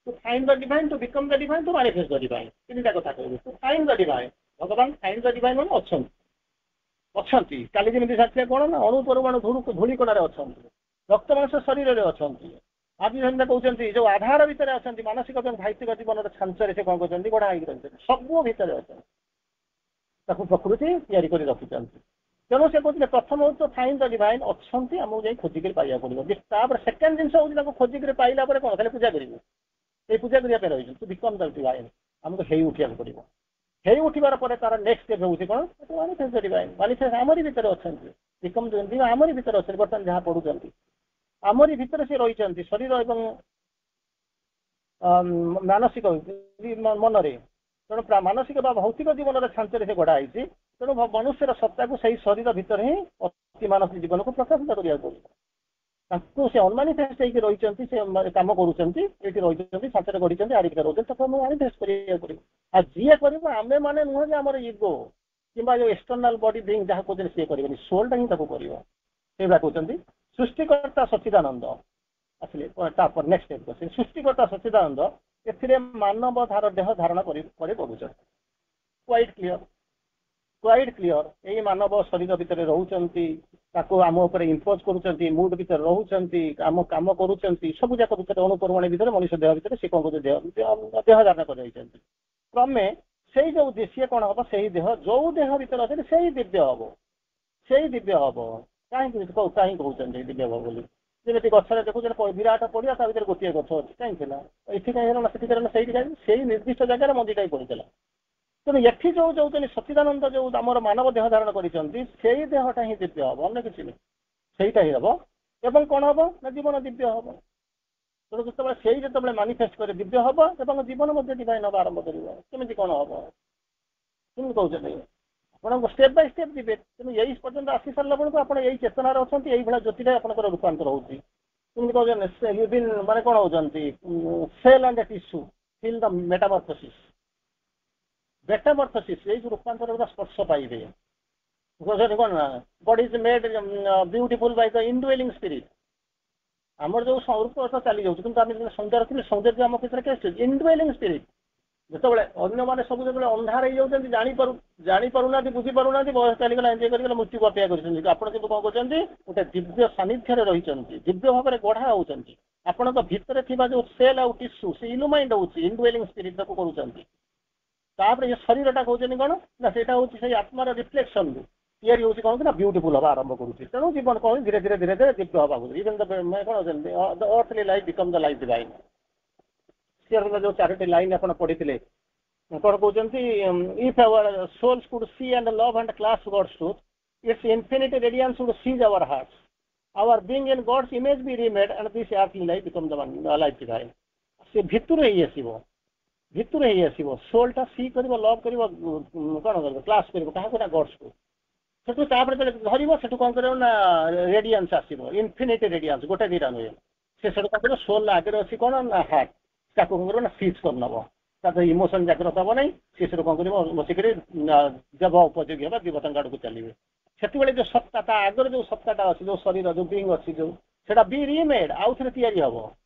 to find the divine to become the divine to manifest the divine ତିନିଟା କଥା କହିବେ ଟୁ ଫାଇଣ୍ଡ the divine ଭଗବାନ ଫାଇଣ୍ଡ the divine ମାନେ ଅଛନ୍ତି ଅଛନ୍ତି କାଲି ଯେମିତି ସାକ୍ଷୀ କଣ ନା ଅଣୁ ପରମାଣୁ ଧୂଳି କଣାରେ ଅଛନ୍ତି ରକ୍ତ ମାଂସ ଶରୀରରେ ଅଛନ୍ତି ଆଜି ଯେମିତି କହୁଛନ୍ତି ଯୋଉ ଆଧାର ଭିତରେ ଅଛନ୍ତି ମାନସିକ ଏବଂ ଭାଇତିକ ଜୀବନର ଛାଞ୍ଚରେ ସେ କଣ କରୁଛନ୍ତି ଗଢା ହେଇକି ରହିଛନ୍ତି ସବୁ ଭିତରେ ଅଛନ୍ତି ତାକୁ ପ୍ରକୃତି ତିଆରି କରି ରଖିଛନ୍ତି ତେଣୁ ସେ କହୁଥିଲେ ପ୍ରଥମ ହଉଛି ଫାଇଣ୍ଡ the divine ଅଛନ୍ତି ଆମକୁ ଯାଇ ଖୋଜିକରି ପାଇବାକୁ ପଡିବ ତାପରେ ସେକେଣ୍ଡ ଜିନିଷ ହଉଛି ତାକୁ ଖୋଜିକରି ପାଇଲା ପରେ କଣ ଖାଲି ପୂଜା କରିବୁ ଏଇ ପୂଜା କରିବା ପାଇଁ ରହିଛନ୍ତି ଟୁ ବିକମ୍ the divine ଆମକୁ ହେଇ ଉଠିବାକୁ ପଡିବ ହେଇ ଉଠିବାର ପରେ ତାର ନେକ୍ସଟ ଷ୍ଟେପ୍ ହେଉଛି କଣ ମାନିଫେଷ୍ଟ ଦ ଡିଭାଇନ୍ ମାନିଫେଷ୍ଟ ଆମରି ଭିତରେ ଅଛନ୍ତି ବିକମ୍ ଆମରି ଭିତରେ ଅଛନ୍ତି ବର୍ତ୍ତମାନ ଯାହା ପଢୁଛନ୍ତି ଆମରି ଭିତରେ ସେ ରହିଛନ୍ତି ଶରୀର ଏବଂ ମାନସିକ ମନରେ ତେଣୁ ମାନସିକ ବା ଭୌତିକ ଜୀବନର ଛାଞ୍ଚରେ ସେ ଗଢା ହେଇଛି ତେଣୁ ମନୁଷ୍ୟର ସତ୍ତାକୁ ସେଇ ଶରୀର ଭିତରେ ହିଁ ଅତି ମାନସିକ ଜୀବନକୁ ପ୍ରକାଶିତ କରିବାକୁ ପଡିବ ତାଙ୍କୁ ସେ ଅନମାନିଫେଷ୍ଟ ହେଇକି ରହିଛନ୍ତି ସେ କାମ କରୁଛନ୍ତି ଏଇଠି ରହିଛନ୍ତି ଛାଞ୍ଚରେ ଗଢିଛନ୍ତି ଆରି ଭିତରେ ରହୁଛନ୍ତି ତାକୁ ଆମକୁ ମାନିଫେଷ୍ଟ କରିବାକୁ ପଡିବ ଆଉ ଯିଏ କରିବ ଆମେ ମାନେ ନୁହଁ ଯେ ଆମର ଇଗୋ କିମ୍ବା ଯୋଉ ଏକ୍ସଟର୍ନାଲ ବଡି ବିଙ୍ଗ ଯାହା କହୁଛନ୍ତି ସିଏ କରିବେନି ସୋଲଟା ହିଁ ତାକୁ କରିବ ସେଇଭଳିଆ କହୁଛନ୍ତି ସୃଷ୍ଟିକର୍ତ୍ତା ସଚ୍ଚିଦାନନ୍ଦ ଆସିଲେ ତାପରେ ନେକ୍ସଟ ଷ୍ଟେପ୍ ସୃଷ୍ଟିକର୍ତ୍ତା ସଚ୍ଚିଦାନନ୍ଦ ଏଥିରେ ମାନବ ଧାର ଦେହ ଧାରଣ କରି କରି କରୁଛନ୍ତି କ୍ୱାଇଟ୍ କ୍ଲିଅର କ୍ୱାଇଟ୍ କ୍ଲିଅର ଏଇ ମାନବ ଶରୀର ଭିତରେ ରହୁଛନ୍ତି ତାକୁ ଆମ ଉପରେ ଇମ୍ପୋଜ କରୁଛନ୍ତି ମୁଡ୍ ଭିତରେ ରହୁଛନ୍ତି ଆମ କାମ କରୁଛନ୍ତି ସବୁ ଯାକ ଭିତରେ ଅଣୁପରମାଣୁ ଭିତରେ ମଣିଷ ଦେହ ଭିତରେ ସେ କଣ କରୁଛନ୍ତି ଦେହ ଦେହ ଧାରଣ କରି ରହିଛନ୍ତି କ୍ରମେ ସେଇ ଯୋଉ ସିଏ କଣ ହବ ସେଇ ଦେହ ଯୋଉ ଦେହ ଭିତରେ ଅଛନ୍ତି ସେଇ ଦିବ୍ୟ ହବ ସେଇ ଦିବ୍ୟ ହବ କାହିଁକି କାହିଁକି କହୁଛନ୍ତି ଦିବ୍ୟ ହବ ବୋଲି ଯେମିତି ଗଛରେ ଦେଖୁଛନ୍ତି ବିରାଟ ପଡିଆ ତା ଭିତରେ ଗୋଟିଏ ଗଛ ଅଛି କାହିଁକି ଥିଲା ଏଠି କାହିଁ ହେଲା ସେଠି ହେଲା ସେଇଠି କାହିଁକି ସେଇ ନିର୍ଦ୍ଦିଷ୍ଟ ଜାଗାରେ ମଞ୍ଜିଟା ହିଁ ପଡିଥିଲା ତେଣୁ ଏଠି ଯୋଉ ଯୋଉଛନ୍ତି ସଚ୍ଚିଦାନନ୍ଦ ଯୋଉ ଆମର ମାନବ ଦେହ ଧାରଣ କରିଛନ୍ତି ସେଇ ଦେହଟା ହିଁ ଦିବ୍ୟ ହବ ଅନ୍ୟ କିଛି ନୁହେଁ ସେଇଟା ହିଁ ହବ ଏବଂ କଣ ହବ ନା ଜୀବନ ଦିବ୍ୟ ହବ ତେଣୁ ଯେତେବେଳେ ସେଇ ଯେତେବେଳେ ମାନିଫେଷ୍ଟ କରି ଦିବ୍ୟ ହବ ଏବଂ ଜୀବନ ମଧ୍ୟ ଡିଭାଇନ୍ ହବା ଆରମ୍ଭ କରିବ କେମିତି କଣ ହବ କେମିତି କହୁଛନ୍ତି ଆପଣଙ୍କୁ ଷ୍ଟେପ୍ ବାଇ ଷ୍ଟେପ୍ ଯିବେ ତେଣୁ ଏଇ ପର୍ଯ୍ୟନ୍ତ ଆସି ସାରିଲା ବେଳକୁ ଆପଣ ଏଇ ଚେତନାରେ ଅଛନ୍ତି ଏଇଭଳିଆ ଜ୍ୟୋତିରେ ଆପଣଙ୍କର ରୂପାନ୍ତର ହଉଛି କେମିତି କହୁଛନ୍ତି ମାନେ କଣ ହଉଛନ୍ତି cell and tissue feel the metamorphosis metamorphosis ଏଇ ଯୋଉ ରୂପାନ୍ତର ସ୍ପର୍ଶ ପାଇବେ କଣ ନା God is made beautiful by the indwelling spirit ଆମର ଯୋଉ ରୂପ ଚାଲି ଯାଉଛି କିନ୍ତୁ ଆମେ ଯେତେବେଳେ ସୌନ୍ଦର୍ଯ୍ୟ ରଖିଲେ ସୌନ୍ଦର୍ଯ୍ୟ ଆମ ଭିତରେ କେତେ ଇନଡୁଏଲିଂ ସ୍ପିରିଟ୍ ଯେତେବେଳେ ଅନ୍ୟମାନେ ସବୁ ଯେତେବେଳେ ଅନ୍ଧାର ହେଇଯାଉଛନ୍ତି ଜାଣିପାରୁ ଜାଣିପାରୁନାହାନ୍ତି ବୁଝିପାରୁନାହାନ୍ତି ବୟସ ଚାଲିଗଲା ଏଞ୍ଜୟ କରିଗଲା ମୃତ୍ୟୁକୁ ଅପେକ୍ଷା କରିଛନ୍ତି ଆପଣ କିନ୍ତୁ କଣ କରୁଛନ୍ତି ଗୋଟେ ଦିବ୍ୟ ସାନ୍ନିଧ୍ୟରେ ରହିଛନ୍ତି ଦିବ୍ୟ ଭାବରେ ଗଢା ହଉଛନ୍ତି ଆପଣଙ୍କ ଭିତରେ ଥିବା ଯୋଉ ସେଲ୍ ଆଉ ଟିସ୍ୟୁ ସେ ଇଲୁମାଇଣ୍ଡ ହଉଛି ଇନଡୁଏଲିଂ ସ୍ପିରିଟ୍ ତାକୁ କରୁଛନ୍ତି ତାପରେ ଏ ଶରୀରଟା କହୁଛନ୍ତି କଣ ନା ସେଇଟା ହଉଛି ସେଇ ଆତ୍ମାର ରିଫ୍ଲେକ୍ସନ ତିଆରି ହଉଛି କଣ ନା ବ୍ୟୁଟିଫୁଲ ହବା ଆରମ୍ଭ କରୁଛି ତେଣୁ ଜୀବନ କଣ ଧୀରେ ଧୀରେ ଧୀରେ ଧୀରେ ଦିବ୍ୟ ହବାକୁ ଇଭେନ୍ କଣ the earthly life become the life divine ଯୋଉ ଚାରୋଟି ଲାଇନ୍ ଆପଣ ପଢିଥିଲେ କଣ କହୁଛନ୍ତି if our souls could see and love and clasp God's truth its infinite radiance would seize our hearts our being in God's image be remade and this earthly life become the life divine ସେ ଭିତରୁ ହେଇ ଆସିବ ଭିତରୁ ହେଇ ଆସିବ ସୋଲଟା ସି କରିବ ଲଭ୍ କରିବ କଣ କରିବ କ୍ଲାସ୍ପ କରିବ କାହାକୁ ନା ଗଡ୍ସକୁ ସେଠୁ ତାପରେ ଯେତେବେଳେ ଧରିବ ସେଠୁ କଣ କରିବ ନା ରେଡିଆନ୍ସ ଆସିବ ଇନଫିନିଟି ରେଡିଆନ୍ସ ଗୋଟେ ଦିଟା ନୁହେଁ ସେ ସେଠୁ କଣ କରିବ ସୋଲ ଆଗରେ ଅଛି କଣ ନା ହାର୍ଟ ତାକୁ କଣ କରିବ ନା ସିଜ୍ କରିନବ ତା ଦେହରେ ଇମୋସନ ଜାଗ୍ରତ ହବ ନାହିଁ ସେ ସେଠୁ କଣ କରିବ ବସିକରି ଦେବ ଉପଯୋଗୀ ହେବା ଦେବତାଙ୍କ ଆଡକୁ ଚାଲିବେ ସେତେବେଳେ ଯୋଉ ସତ୍ତା ତା ଆଗରେ ଯୋଉ ସତ୍ତାଟା ଅଛି ଯୋଉ ଶରୀର ଯୋଉ ବିଙ୍ଗ ଅଛି ଯୋଉ ସେଟା ବି ରିମେଡ୍ ଆଉ ଥରେ ତିଆରି ହବ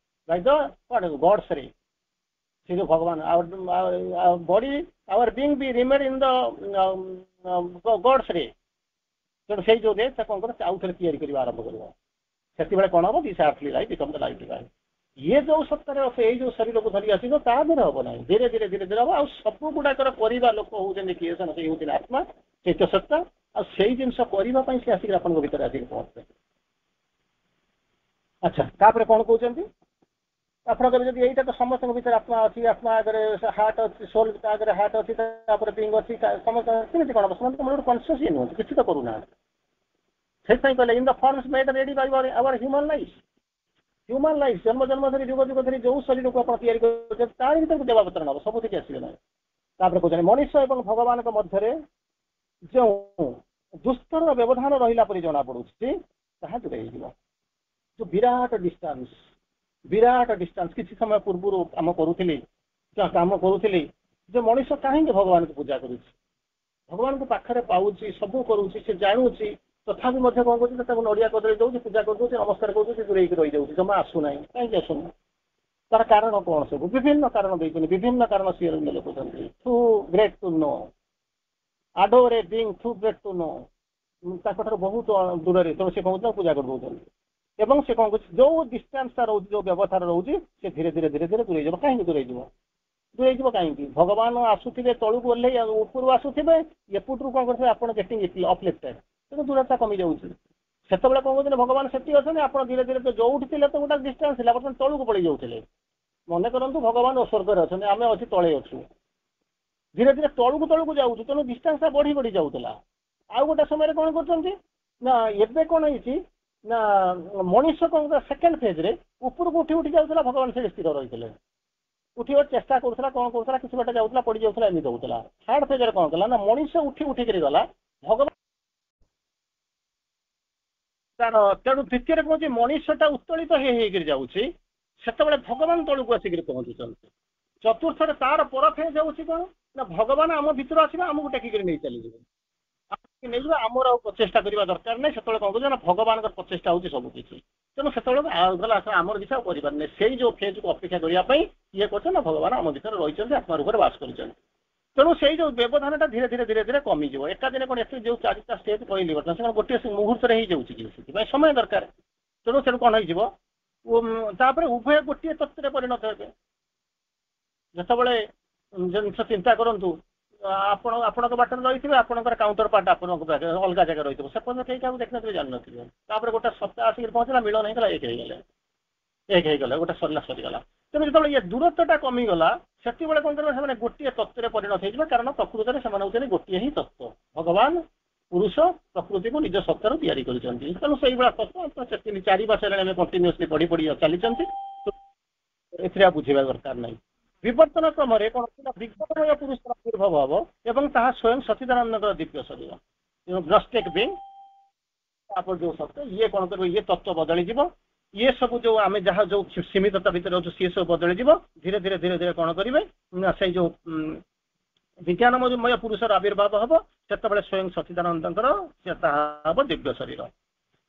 ବାଇ ଦ କଣ ଗଡ୍ସ ରେ ସେ ଯୋଉ ଭଗବାନ body our being be remade in the God's ray ତେଣୁ ସେଇ ଯୋଉ ରେ ସେ କଣ କରିବ ଆଉ ଥରେ ତିଆରି କରିବା ଆରମ୍ଭ କରିବ ସେତେବେଳେ କଣ ହବ this earthly life become the life divine ଇଏ ଯୋଉ ସତ୍ତାରେ ଅଛି ଏଇ ଯୋଉ ଶରୀରକୁ ଧରି ଆସିବ ତା ଦେହରେ ହବ ନାହିଁ ଧୀରେ ଧୀରେ ଧୀରେ ଧୀରେ ହବ ଆଉ ସବୁ ଗୁଡାକର କରିବା ଲୋକ ହଉଛନ୍ତି କିଏ ସେ ହଉଛନ୍ତି ଆତ୍ମା ଚୈତ୍ୟ ସତ୍ତା ଆଉ ସେଇ ଜିନିଷ କରିବା ପାଇଁ ସେ ଆସିକି ଆପଣଙ୍କ ଭିତରେ ଆସିକି ପହଞ୍ଚେ ଆଚ୍ଛା ତାପରେ କଣ କହୁଛନ୍ତି ଆପଣଙ୍କର ଯଦି ଏଇଟା ତ ସମସ୍ତଙ୍କ ଭିତରେ ଆତ୍ମା ଅଛି ଆତ୍ମା ଆଗରେ ହାର୍ଟ ଅଛି ସୋଲ ତା ଆଗରେ ହାର୍ଟ ଅଛି ତାପରେ ବିଙ୍ଗ ଅଛି ସମସ୍ତ କେମିତି କଣ ହବ ସେମାନେ ତ ଗୋଟେ କନସିୟସ୍ ହିଁ ନୁହନ୍ତି କିଛି ତ କରୁନାହାନ୍ତି ସେଥିପାଇଁ କହିଲେ in the forms made ready by our human life human life ଜନ୍ମ ଜନ୍ମ ଧରି ଯୁଗ ଯୁଗ ଧରି ଯୋଉ ଶରୀରକୁ ଆପଣ ତିଆରି କରୁଛନ୍ତି ତାରି ଭିତରକୁ ଦେବାବତରଣ ହବ ସବୁଥିକି ଆସିବେ ନାହିଁ ତାପରେ କହୁଛନ୍ତି ମଣିଷ ଏବଂ ଭଗବାନଙ୍କ ମଧ୍ୟରେ ଯେଉଁ ଦୁସ୍ତର ବ୍ୟବଧାନ ରହିଲା ପରି ଜଣା ପଡୁଛି ତାହା ଦୂର ହେଇଯିବ ଯୋଉ ବିରାଟ ଡିଷ୍ଟାନ୍ସ ବିରାଟ ଡିଷ୍ଟାନ୍ସ କିଛି ସମୟ ପୂର୍ବରୁ କାମ କରୁଥିଲି କାମ କରୁଥିଲି ଯେ ମଣିଷ କାହିଁକି ଭଗବାନଙ୍କୁ ପୂଜା କରୁଛି ଭଗବାନଙ୍କୁ ପାଖରେ ପାଉଛି ସବୁ କରୁଛି ସେ ଜାଣୁଛି ତଥାପି ମଧ୍ୟ କଣ କରୁଛି ତାକୁ ନଡିଆ କଦଳୀ ଦଉଛି ପୂଜା କରିଦଉଛି ନମସ୍କାର କରୁଛି ଦୂରେଇକି ରହିଯାଉଛି ଜମା ଆସୁନାହିଁ କାହିଁକି ଆସୁନି ତାର କାରଣ କଣ ସବୁ ବିଭିନ୍ନ କାରଣ ଦେଇଛନ୍ତି ବିଭିନ୍ନ କାରଣ ସିଏ ଲେଖୁଛନ୍ତି too great to know adore a being too great to know ତାଙ୍କଠାରୁ ବହୁତ ଦୂରରେ ତେଣୁ ସେ କଣ କରୁଛନ୍ତି ପୂଜା କରିଦଉଛନ୍ତି ଏବଂ ସେ କଣ କରୁଛି ଯୋଉ ଡିଷ୍ଟାନ୍ସଟା ରହୁଛି ଯୋଉ ବ୍ୟବଧାନ ରହୁଛି ସେ ଧୀରେ ଧୀରେ ଧୀରେ ଧୀରେ ଦୂରେଇ ଯିବ କାହିଁକି ଦୂରେଇ ଯିବ ଦୂରେଇ ଯିବ କାହିଁକି ଭଗବାନ ଆସୁଥିବେ ତଳକୁ ଓହ୍ଲେଇ ଉପରୁ ଆସୁଥିବେ ଏପଟରୁ କଣ କରୁଥିବେ ଆପଣ ଗେଟିଂ ଅପଲିଫ୍ଟେଡ୍ ତେଣୁ ଦୂରତା କମି ଯାଉଛି ସେତେବେଳେ କଣ କରୁଥିଲେ ଭଗବାନ ସେଠି ଅଛନ୍ତି ଆପଣ ଧୀରେ ଧୀରେ ଯୋଉଠି ଥିଲେ ତ ଗୋଟେ ଡିଷ୍ଟାନ୍ସ ଥିଲା ବର୍ତ୍ତମାନ ତଳକୁ ପଳେଇ ଯାଉଥିଲେ ମନେ କରନ୍ତୁ ଭଗବାନ ସ୍ୱର୍ଗରେ ଅଛନ୍ତି ଆମେ ଅଛି ତଳେ ଅଛୁ ଧୀରେ ଧୀରେ ତଳକୁ ତଳକୁ ଯାଉଛୁ ତେଣୁ ଡିଷ୍ଟାନ୍ସଟା ବଢି ବଢି ଯାଉଥିଲା ଆଉ ଗୋଟେ ସମୟରେ କଣ କରୁଛନ୍ତି ନା ଏବେ କଣ ହେଇଛି ନା ମଣିଷ କଣ ସେକେଣ୍ଡ ଫେଜରେ ଉପରକୁ ଉଠି ଉଠି ଯାଉଥିଲା ଭଗବାନ ସେଠି ସ୍ଥିର ରହିଥିଲେ ଉଠିବାକୁ ଚେଷ୍ଟା କରୁଥିଲା କଣ କରୁଥିଲା କିଛି ବାଟ ଯାଉଥିଲା ପଡି ଯାଉଥିଲା ଏମିତି ହଉଥିଲା ଥାର୍ଡ ଫେଜରେ କଣ କଲା ନା ମଣିଷ ଉଠି ଉଠିକିରି ଗଲା ଭଗବାନ ତାର ତେଣୁ ଦ୍ୱିତୀୟରେ କହୁଛି ମଣିଷଟା ଉତ୍ତୋଳିତ ହେଇ ହେଇକିରି ଯାଉଛି ସେତେବେଳେ ଭଗବାନ ତଳକୁ ଆସିକିରି ପହଞ୍ଚୁଛନ୍ତି ଚତୁର୍ଥରେ ତାର ପର ଫେଜ ହଉଛି କଣ ନା ଭଗବାନ ଆମ ଭିତରୁ ଆସିବେ ଆମକୁ ଟେକିକିରି ନେଇ ଚାଲିଯିବେ ନେଇଯିବେ ଆମର ଆଉ ପ୍ରଚେଷ୍ଟା କରିବା ଦରକାର ନାହିଁ ସେତେବେଳେ କଣ କରୁଛ ନା ଭଗବାନଙ୍କର ପ୍ରଚେଷ୍ଟା ହଉଛି ସବୁ କିଛି ତେଣୁ ସେତେବେଳେ ଗଲା ଆମର କିଛି ଆଉ କରିପାରୁନି ସେଇ ଯୋଉ ଫେଜକୁ ଅପେକ୍ଷା କରିବା ପାଇଁ ଇଏ କରୁଛନ୍ତି ନା ଭଗବାନ ଆମ ଭିତରେ ରହିଛନ୍ତି ଆତ୍ମା ରୂପରେ ବାସ କରିଛନ୍ତି ତେଣୁ ସେଇ ଯୋଉ ବ୍ୟବଧାନଟା ଧୀରେ ଧୀରେ ଧୀରେ ଧୀରେ କମିଯିବ ଏକା ଦିନେ କଣ ଏତେ ଯୋଉ ଚାରିଟା ଷ୍ଟେଜ କହିଲି ବର୍ତ୍ତମାନ ସେ କଣ ଗୋଟିଏ ମୁହୂର୍ତ୍ତରେ ହେଇଯାଉଛି କି ସେଥିପାଇଁ ସମୟ ଦରକାର ତେଣୁ ସେଠୁ କଣ ହେଇଯିବ ତାପରେ ଉଭୟ ଗୋଟିଏ ତତ୍ତ୍ୱରେ ପରିଣତ ହେବେ ଯେତେବେଳେ ଜିନିଷ ଚିନ୍ତା କରନ୍ତୁ ଆପଣ ଆପଣଙ୍କ ବାଟରେ ରହିଥିବେ ଆପଣଙ୍କର କାଉଣ୍ଟର ପାର୍ଟ ଆପଣଙ୍କ ପାଖରେ ଅଲଗା ଜାଗାରେ ରହିଥିବ ସେ ପର୍ଯ୍ୟନ୍ତ କେହି କାହାକୁ ଦେଖିନଥିବେ ଜାଣିନଥିବେ ତାପରେ ଗୋଟେ ସପ୍ତାହ ଆସିକି ପହଞ୍ଚିଲା ମିଳନ ହେଇଗଲା ଏକ ହେଇଗଲେ ଏକ ହେଇଗଲା ଗୋଟେ ସରିଲା ସରିଗଲା ତେଣୁ ଯେତେବେଳେ ଇଏ ଦୂରତ୍ୱଟା କମିଗଲା ସେତିକିବେଳେ କଣ କରିବେ ସେମାନେ ଗୋଟିଏ ତତ୍ତ୍ୱରେ ପରିଣତ ହେଇଯିବେ କାରଣ ପ୍ରକୃତରେ ସେମାନେ ହଉଛନ୍ତି ଗୋଟିଏ ହିଁ ତତ୍ତ୍ୱ ଭଗବାନ ପୁରୁଷ ପ୍ରକୃତିକୁ ନିଜ ସତ୍ତାରୁ ତିଆରି କରିଛନ୍ତି ତେଣୁ ସେଇଭଳିଆ ତତ୍ତ୍ୱ ତିନି ଚାରି ମାସ ହେଲାଣି ଆମେ କଣ୍ଟିନ୍ୟୁଅସଲି ପଢି ପଢି ଚାଲିଛନ୍ତି ଏଥିରେ ଆଉ ବୁଝିବା ଦରକାର ନାହିଁ ବିବର୍ତ୍ତନ କ୍ରମରେ କଣ ବିଜ୍ଞାନମୟ ପୁରୁଷର ଆବିର୍ଭାବ ହବ ଏବଂ ତାହା ସ୍ୱୟଂ ସଚିଦାନନ୍ଦଙ୍କର ଦିବ୍ୟ ଶରୀର ଗ୍ନୋଷ୍ଟିକ ବିଙ୍ଗ ତାପରେ ଯୋଉ ସତ୍ୟ ଇଏ କଣ କରିବ ଇଏ ତତ୍ତ୍ୱ ବଦଳିଯିବ ଇଏ ସବୁ ଯୋଉ ଆମେ ଯାହା ଯୋଉ ସୀମିତତା ଭିତରେ ଅଛୁ ସିଏ ସବୁ ବଦଳିଯିବ ଧୀରେ ଧୀରେ ଧୀରେ ଧୀରେ କଣ କରିବେ ନା ସେଇ ଯୋଉ ବିଜ୍ଞାନମୟ ପୁରୁଷର ଆବିର୍ଭାବ ହବ ସେତେବେଳେ ସ୍ୱୟଂ ସଚିଦାନନ୍ଦଙ୍କର ସେ ତାହା ହବ ଦିବ୍ୟ ଶରୀର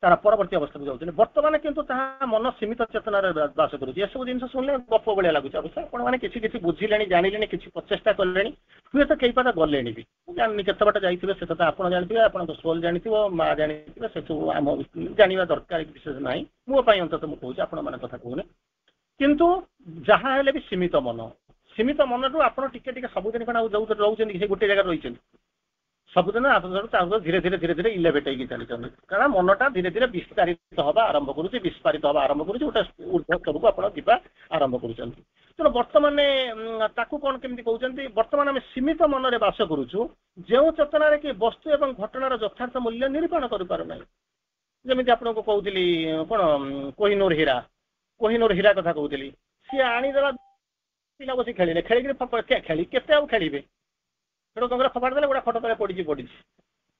ତାର ପରବର୍ତ୍ତୀ ଅବସ୍ଥାକୁ ଯାଉଛନ୍ତି ବର୍ତ୍ତମାନ କିନ୍ତୁ ତାହା ମନ ସୀମିତ ଚେତନାରେ ବାସ କରୁଛି ଏସବୁ ଜିନିଷ ଶୁଣିଲେ ଗପ ଭଳିଆ ଲାଗୁଛି ଅବଶ୍ୟ ଆପଣମାନେ କିଛି କିଛି ବୁଝିଲେଣି ଜାଣିଲେଣି କିଛି ପ୍ରଚେଷ୍ଟା କଲେଣି ହୁଏତ କେଇ ପାଦ ଗଲେଣି ବି ମୁଁ ଜାଣିନି କେତେ ବାଟ ଯାଇଥିବେ ସେ କଥା ଆପଣ ଜାଣିଥିବେ ଆପଣଙ୍କ ସୋଲ ଜାଣିଥିବ ମା ଜାଣିଥିବେ ସେସବୁ ଆମ ଜାଣିବା ଦରକାର ବିଶେଷ ନାହିଁ ମୋ ପାଇଁ ଅନ୍ତତଃ ମୁଁ କହୁଛି ଆପଣମାନଙ୍କ କଥା କହୁନି କିନ୍ତୁ ଯାହା ହେଲେ ବି ସୀମିତ ମନ ସୀମିତ ମନରୁ ଆପଣ ଟିକେ ଟିକେ ସବୁଦିନ କଣ ଆଉ ଯୋଉ ରହୁଛନ୍ତି ସେ ଗୋଟେ ଜାଗାରେ ରହିଛନ୍ତି ସବୁଦିନ ତାକୁ ଧୀରେ ଧୀରେ ଧୀରେ ଧୀରେ ଇଲେଭେଟ୍ ହେଇକି ଚାଲିଛନ୍ତି କାରଣ ମନଟା ଧୀରେ ଧୀରେ ବିସ୍ତାରିତ ହବା ଆରମ୍ଭ କରୁଛି ବିସ୍ଫାରିତ ହବା ଆରମ୍ଭ କରୁଛି ଗୋଟେ ଉର୍ଦ୍ଧ୍ୱ ସ୍ତରକୁ ଆପଣ ଯିବା ଆରମ୍ଭ କରୁଛନ୍ତି ତେଣୁ ବର୍ତ୍ତମାନ ତାକୁ କଣ କେମିତି କହୁଛନ୍ତି ବର୍ତ୍ତମାନ ଆମେ ସୀମିତ ମନରେ ବାସ କରୁଛୁ ଯେଉଁ ଚେତନାରେ କି ବସ୍ତୁ ଏବଂ ଘଟଣାର ଯଥାର୍ଥ ମୂଲ୍ୟ ନିରୂପଣ କରିପାରୁନାହିଁ ଯେମିତି ଆପଣଙ୍କୁ କହୁଥିଲି କଣ କୋହିନୂର ହୀରା କୋହିନୂର ହୀରା କଥା କହୁଥିଲି ସିଏ ଆଣିଦେଲା ପିଲା ବସି ଖେଳିଲେ ଖେଳିକିରି ଖେଳି କେତେ ଆଉ ଖେଳିବେ ସେଠୁ କଣ ଫୋପାଡ଼ି ଦେଲେ ଗୋଟେ ଖଟ ତଳେ ପଡିଛି ପଡିଛି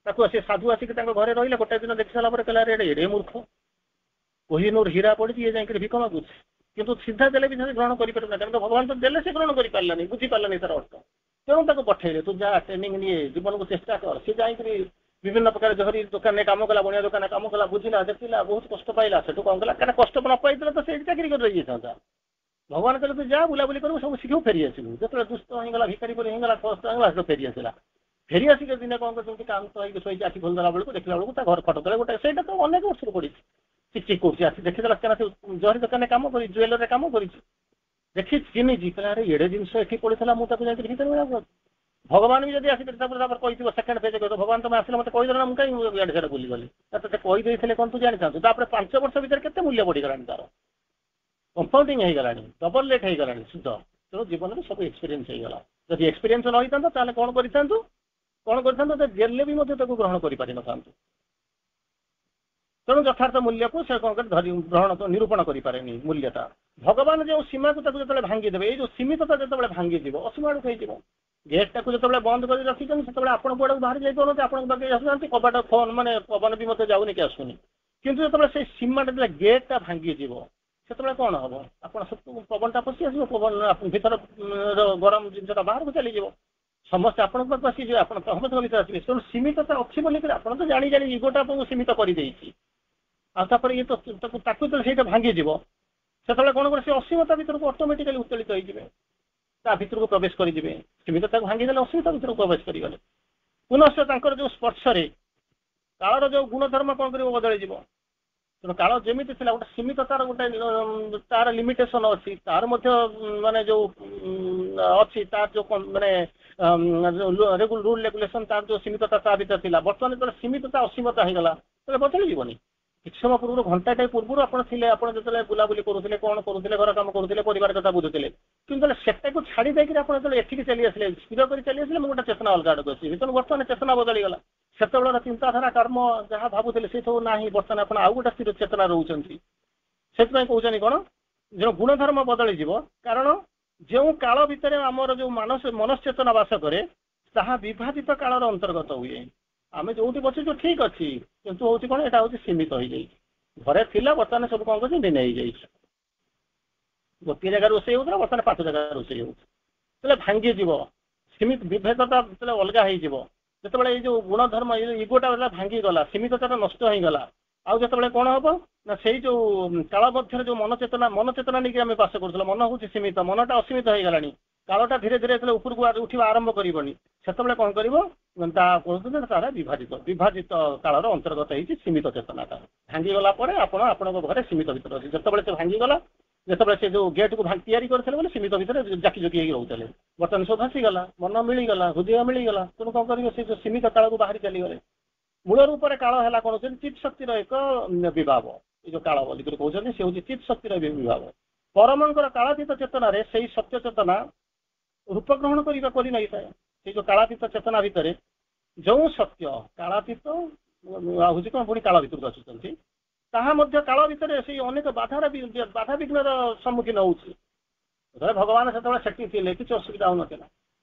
ତାକୁ ସେ ସାଧୁ ଆସିକି ତାଙ୍କ ଘରେ ରହିଲେ। ଗୋଟେ ଦିନ ଦେଖି ସାରିଲା ପରେ କହିଲା, "ଆରେ, ଏଡେ ଏଡେ ମୂର୍ଖ, କୋହିନୂର ହୀରା ପଡିଛି, ଇଏ ଯାଇକରି ଭିକ ମାଗୁଛି।" କିନ୍ତୁ ସିଧା ଦେଲେ ବି ସେ ଗ୍ରହଣ କରିପାରିବ ନା। କାରଣ ଭଗବାନ ତ ଦେଲେ, ସେ ଗ୍ରହଣ କରିପାରିଲାନି, ବୁଝିପାରିଲାନି ତାର ଅର୍ଥ। ତେଣୁ ତାକୁ ପଠେଇଲେ, ତୁ ଯା, ଟ୍ରେନିଂ ନିଏ, ଜୀବନକୁ ଚେଷ୍ଟା କର। ସେ ଯାଇକରି ବିଭିନ୍ନ ପ୍ରକାର ଜରି ଦୋକାନରେ କାମ କଲା, ବଣିଆ ଦୋକାନରେ କାମ କଲା, ବୁଝିଲା, ଦେଖିଲା, ବହୁତ କଷ୍ଟ ପାଇଲା। ସେଠୁ କଣ କଲା? କାରଣ କଷ୍ଟ ନ ପାଇଥିଲେ ତ ସେଇଠି ଚାକିରି କରି ରହିଯାଇଥାନ୍ତା। ଭଗବାନ କହିଲେ, ତୁ ଯା, ବୁଲାବୁଲି କରିବୁ, ସବୁ ଶିଖିବୁ, ଫେରି ଆସିବୁ। ଯେତେବେଳେ ଦୁସ୍ଥ ହେଇଗଲା, ଭିକାରୀ ପରି ହେଇଗଲା, କଷ୍ଟ ହେଇଗଲା, ସେଠୁ ଫେରି ଆସିଲା। ଫେରି ଆସିକି ଦିନେ କଣ କରୁଛନ୍ତି, କାନ୍ତ ହେଇକି ଶୋଇଛି, ଆଖି ଖୋଲିଦେଲା ବେଳକୁ ଦେଖିଲା ବେଳକୁ ତା ଘର ଖଟ ତଳେ ଗୋଟେ, ସେଇଟା ତ ଅନେକ ବର୍ଷରୁ ପଡିଛି, ଚିକ୍ ଚିକ୍ କରୁଛି। ଆସି ଦେଖିଦେଲା। କାରଣ ସେ ଜରି ଦୋକାନରେ କାମ କରି, ଜୁଏଲରରେ କାମ କରିଛି, ଦେଖି ଚିହ୍ନିଛି। କହିଲା, ଆରେ, ଏଡେ ଜିନିଷ ଏଠି ପଡିଥିଲା, ମୁଁ ତାକୁ ଯାଇକି ଭିତରେ। ଭଗବାନ ବି ଯଦି ଆସିକି ତାପରେ ତାପରେ କହିଥିବ, ସେକେଣ୍ଡ ପେଜ କହିଥିବ, ଭଗବାନ ତମେ ଆସିଲେ ମତେ କହିଦେଲ ନା, ମୁଁ କାହିଁ ଇଆଡ଼େ ସିଆଡ଼େ ବୁଲିଗଲି? ତତେ କହିଦେଇଥିଲେ କଣ ତୁ ଜାଣିଥାନ୍ତୁ? ତାପରେ ପାଞ୍ଚ ବର୍ଷ ଭିତରେ କେତେ ମୂଲ୍ୟ ବଢିଗଲାଣି, ତାର କମ୍ପାଉଣ୍ଡିଂ ହେଇଗଲାଣି, ଡବଲ ରେଟ୍ ହେଇଗଲାଣି ସୁଧ। ତେଣୁ ଜୀବନରେ ସବୁ ଏକ୍ସପିରିଏନ୍ସ ହେଇଗଲା। ଯଦି ଏକ୍ସପିରିଏନ୍ସ ନ ହେଇଥାନ୍ତା, ତାହେଲେ କଣ କରିଥାନ୍ତୁ? କଣ କରିଥାନ୍ତୁ? ଦେଲେ ବି ମଧ୍ୟ ତାକୁ ଗ୍ରହଣ କରିପାରିନଥାନ୍ତୁ। ତେଣୁ ଯଥାର୍ଥ ମୂଲ୍ୟକୁ ସେ କଣ କରି ଧରି ଗ୍ରହଣ ନିରୂପଣ କରିପାରେନି ମୂଲ୍ୟଟା। ଭଗବାନ ଯେଉଁ ସୀମାକୁ ତାକୁ ଯେତେବେଳେ ଭାଙ୍ଗିଦେବେ, ଏଇ ଯୋଉ ସୀମିତତା ଯେତେବେଳେ ଭାଙ୍ଗିଯିବ, ଅସୀମ ଆଡ଼କୁ ହେଇଯିବ। ଗେଟ୍ଟାକୁ ଯେତେବେଳେ ବନ୍ଦ କରି ରଖିଛନ୍ତି, ସେତେବେଳେ ଆପଣ କୁଆଡ଼କୁ ବାହାରି ଯାଇପାରୁନାହାନ୍ତି, ଆପଣଙ୍କ ପାଖରେ ଆସୁନାହାନ୍ତି, କବାଟ ଫୋନ ମାନେ ପବନ ବି ମଧ୍ୟ ଯାଉନି କି ଆସୁନି। କିନ୍ତୁ ଯେତେବେଳେ ସେଇ ସୀମାଟା, ଯେତେବେଳେ ଗେଟ୍ଟା ଭାଙ୍ଗିଯିବ, ସେତେବେଳେ କଣ ହବ? ଆପଣ ସବୁ ପବନଟା ପଶି ଆସିବ, ପବନ ଭିତର ଗରମ ଜିନିଷଟା ବାହାରକୁ ଚାଲିଯିବ, ସମସ୍ତେ ଆପଣଙ୍କ ପାଖକୁ ଆସିଯିବେ, ଆପଣ ସମସ୍ତଙ୍କ ଭିତରେ ଆସିବେ। ତେଣୁ ସୀମିତତା ଅଛି ବୋଲିକରି ଆପଣ ତ ଜାଣି ଜାଣି ଇଗୋଟା ଆପଣଙ୍କୁ ସୀମିତ କରିଦେଇଛି। ଆଉ ତାପରେ ଇଏ ତ ତାକୁ ତାକୁ ଯେତେବେଳେ ସେଇଟା ଭାଙ୍ଗିଯିବ, ସେତେବେଳେ କଣ କରିବ? ସେ ଅସୀମତା ଭିତରକୁ ଅଟୋମେଟିକାଲି ଉତ୍ତୋଳିତ ହେଇଯିବେ, ତା ଭିତରକୁ ପ୍ରବେଶ କରିଯିବେ। ସୀମିତତାକୁ ଭାଙ୍ଗିଦେଲେ ଅସୀମତା ଭିତରକୁ ପ୍ରବେଶ କରିଗଲେ। ପୁନଶ୍ଚ ତାଙ୍କର ଯୋଉ ସ୍ପର୍ଶରେ କାଳର ଯୋଉ ଗୁଣଧର୍ମ କଣ କରିବ? ବଦଳିଯିବ। ତେଣୁ କାଳ ଯେମିତି ଥିଲା, ଗୋଟେ ସୀମିତତାର ଗୋଟେ ତାର ଲିମିଟେସନ ଅଛି, ତାର ମଧ୍ୟ ମାନେ ଯୋଉ ଅଛି, ତାର ଯୋଉ ମାନେ ରୁଲ ରେଗୁଲେସନ, ତାର ଯୋଉ ସୀମିତତା ତା ଭିତରେ ଥିଲା, ବର୍ତ୍ତମାନ ଯେତେବେଳେ ସୀମିତତା ଅସୀମତା ହେଇଗଲା, ତାହେଲେ ବଦଳିଯିବନି? କିଛି ସମୟ ପୂର୍ବରୁ, ଘଣ୍ଟାଟେ ପୂର୍ବରୁ ଆପଣ ଥିଲେ, ଆପଣ ଯେତେବେଳେ ବୁଲାବୁଲି କରୁଥିଲେ, କଣ କରୁଥିଲେ, ଘର କାମ କରୁଥିଲେ, ପରିବାର କଥା ବୁଝୁଥିଲେ। କିନ୍ତୁ ଯେତେବେଳେ ସେଟାକୁ ଛାଡି ଦେଇକିରି ଆପଣ ଯେତେବେଳେ ଏଠିକି ଚାଲି ଆସିଲେ, ସ୍ଥିର କରି ଚାଲି ଆସିଲେ, ମୁଁ ଗୋଟେ ଚେତନା ଅଲଗା ଆଡ଼କୁ ଆସିବି। ତେଣୁ ବର୍ତ୍ତମାନ ଚେତନା ବଦଳିଗଲା। ସେତେବେଳର ଚିନ୍ତାଧାରା, କର୍ମ ଯାହା ଭାବୁଥିଲେ, ସେ ସବୁ ନାହିଁ। ବର୍ତ୍ତମାନ ଆପଣ ଆଉ ଗୋଟେ ସ୍ଥିର ଚେତନା ରହୁଛନ୍ତି। ସେଥିପାଇଁ କହୁଛନ୍ତି କଣ, ଯେଉଁ ଗୁଣଧର୍ମ ବଦଳିଯିବ। କାରଣ ଯେଉଁ କାଳ ଭିତରେ ଆମର ଯୋଉ ମାନସ ମନଶ୍ଚେତନା ବାସ କରେ, ତାହା ବିଭାଜିତ କାଳର ଅନ୍ତର୍ଗତ ହୁଏ। ଆମେ ଯୋଉଠି ବସିଛୁ ଠିକ ଅଛି, କିନ୍ତୁ ହଉଛି କଣ, ଏଇଟା ହଉଛି ସୀମିତ ହେଇଯାଇଛି। ଘରେ ଥିଲା, ବର୍ତ୍ତମାନ ସବୁ କଣ କରୁଛି? ଭିନ୍ନ ହେଇଯାଇଛି। ଗୋଟିଏ ଜାଗାରେ ରୋଷେଇ ହଉଥିଲା, ବର୍ତ୍ତମାନ ପାଞ୍ଚ ଜାଗାରେ ରୋଷେଇ ହଉଛି। ଯେତେବେଳେ ଭାଙ୍ଗିଯିବ ସୀମିତ ବିଭେଦତା, ଯେତେବେଳେ ଅଲଗା ହେଇଯିବ, ଯେତେବେଳେ ଏଇ ଯୋଉ ଗୁଣଧର୍ମ, ଏଇ ଯୋଉ ଇଗୋଟା ଭାଙ୍ଗିଗଲା, ସୀମିତତାଟା ନଷ୍ଟ ହେଇଗଲା, ଆଉ ଯେତେବେଳେ କଣ ହବ ନା, ସେଇ ଯୋଉ କାଳ ମଧ୍ୟରେ ଯୋଉ ମନ ଚେତନା, ମନ ଚେତନା ନେଇକି ଆମେ ବାସ କରୁଥିଲେ, ମନ ହଉଛି ସୀମିତ, ମନଟା ଅସୀମିତ ହେଇଗଲାଣି। କାଳଟା ଧୀରେ ଧୀରେ ଯେତେବେଳେ ଉପରକୁ ଉଠିବା ଆରମ୍ଭ କରିବନି, ସେତେବେଳେ କଣ କରିବ? ତା କହୁଛନ୍ତି ତାର ବିଭାଜିତ ବିଭାଜିତ କାଳର ଅନ୍ତର୍ଗତ ହେଇଛି। ସୀମିତ ଚେତନାଟା ଭାଙ୍ଗିଗଲା ପରେ ଆପଣ ଆପଣଙ୍କ ଘରେ ସୀମିତ ଭିତରେ ଅଛି। ଯେତେବେଳେ ସେ ଭାଙ୍ଗିଗଲା, ଯେତେବେଳେ ସେ ଯୋଉ ଗେଟ୍କୁ ତିଆରି କରିଥିଲେ ବୋଲି ସୀମିତ ଭିତରେ ଜାକି ଜୁକି ହେଇକି ରହୁଥିଲେ, ବର୍ତ୍ତମାନ ସବୁ ଭାସିଗଲା, ମନ ମିଳିଗଲା, ହୃଦୟ ମିଳିଗଲା। ତେଣୁ କଣ କରିବ? ସେ ଯୋଉ ସୀମିତ କାଳକୁ ବାହାରି ଚାଲିଗଲେ। ମୂଳ ରୂପରେ କାଳ ହେଲା କଣ ହଉଛନ୍ତି? ଚିତ୍ ଶକ୍ତିର ଏକ ବିଭାବ। ଏଇ ଯୋଉ କାଳ ବୋଲିକରି କହୁଛନ୍ତି, ସେ ହଉଛି ଚିତ୍ ଶକ୍ତିର ବିଭାବ। ପରମଙ୍କର କାଳାତୀତ ଚେତନାରେ ସେଇ ସତ୍ୟ ଚେତନା ରୂପ ଗ୍ରହଣ କରିବା କରି ନେଇଥାଏ। ସେଇ ଯୋଉ କାଳାତୀତ ଚେତନା ଭିତରେ ଯୋଉ ସତ୍ୟ, କାଳାତୀତ ହଉଛି କଣ, ପୁଣି କାଳ ଭିତରକୁ ଆସୁଛନ୍ତି, ତାହା ମଧ୍ୟ କାଳ ଭିତରେ ସେଇ ଅନେକ ବାଧାର ବାଧା ବିଘ୍ନର ସମ୍ମୁଖୀନ ହଉଛି। ଭଗବାନ ସେତେବେଳେ ସେଠି ଥିଲେ, କିଛି ଅସୁବିଧା ହଉନଥିଲା।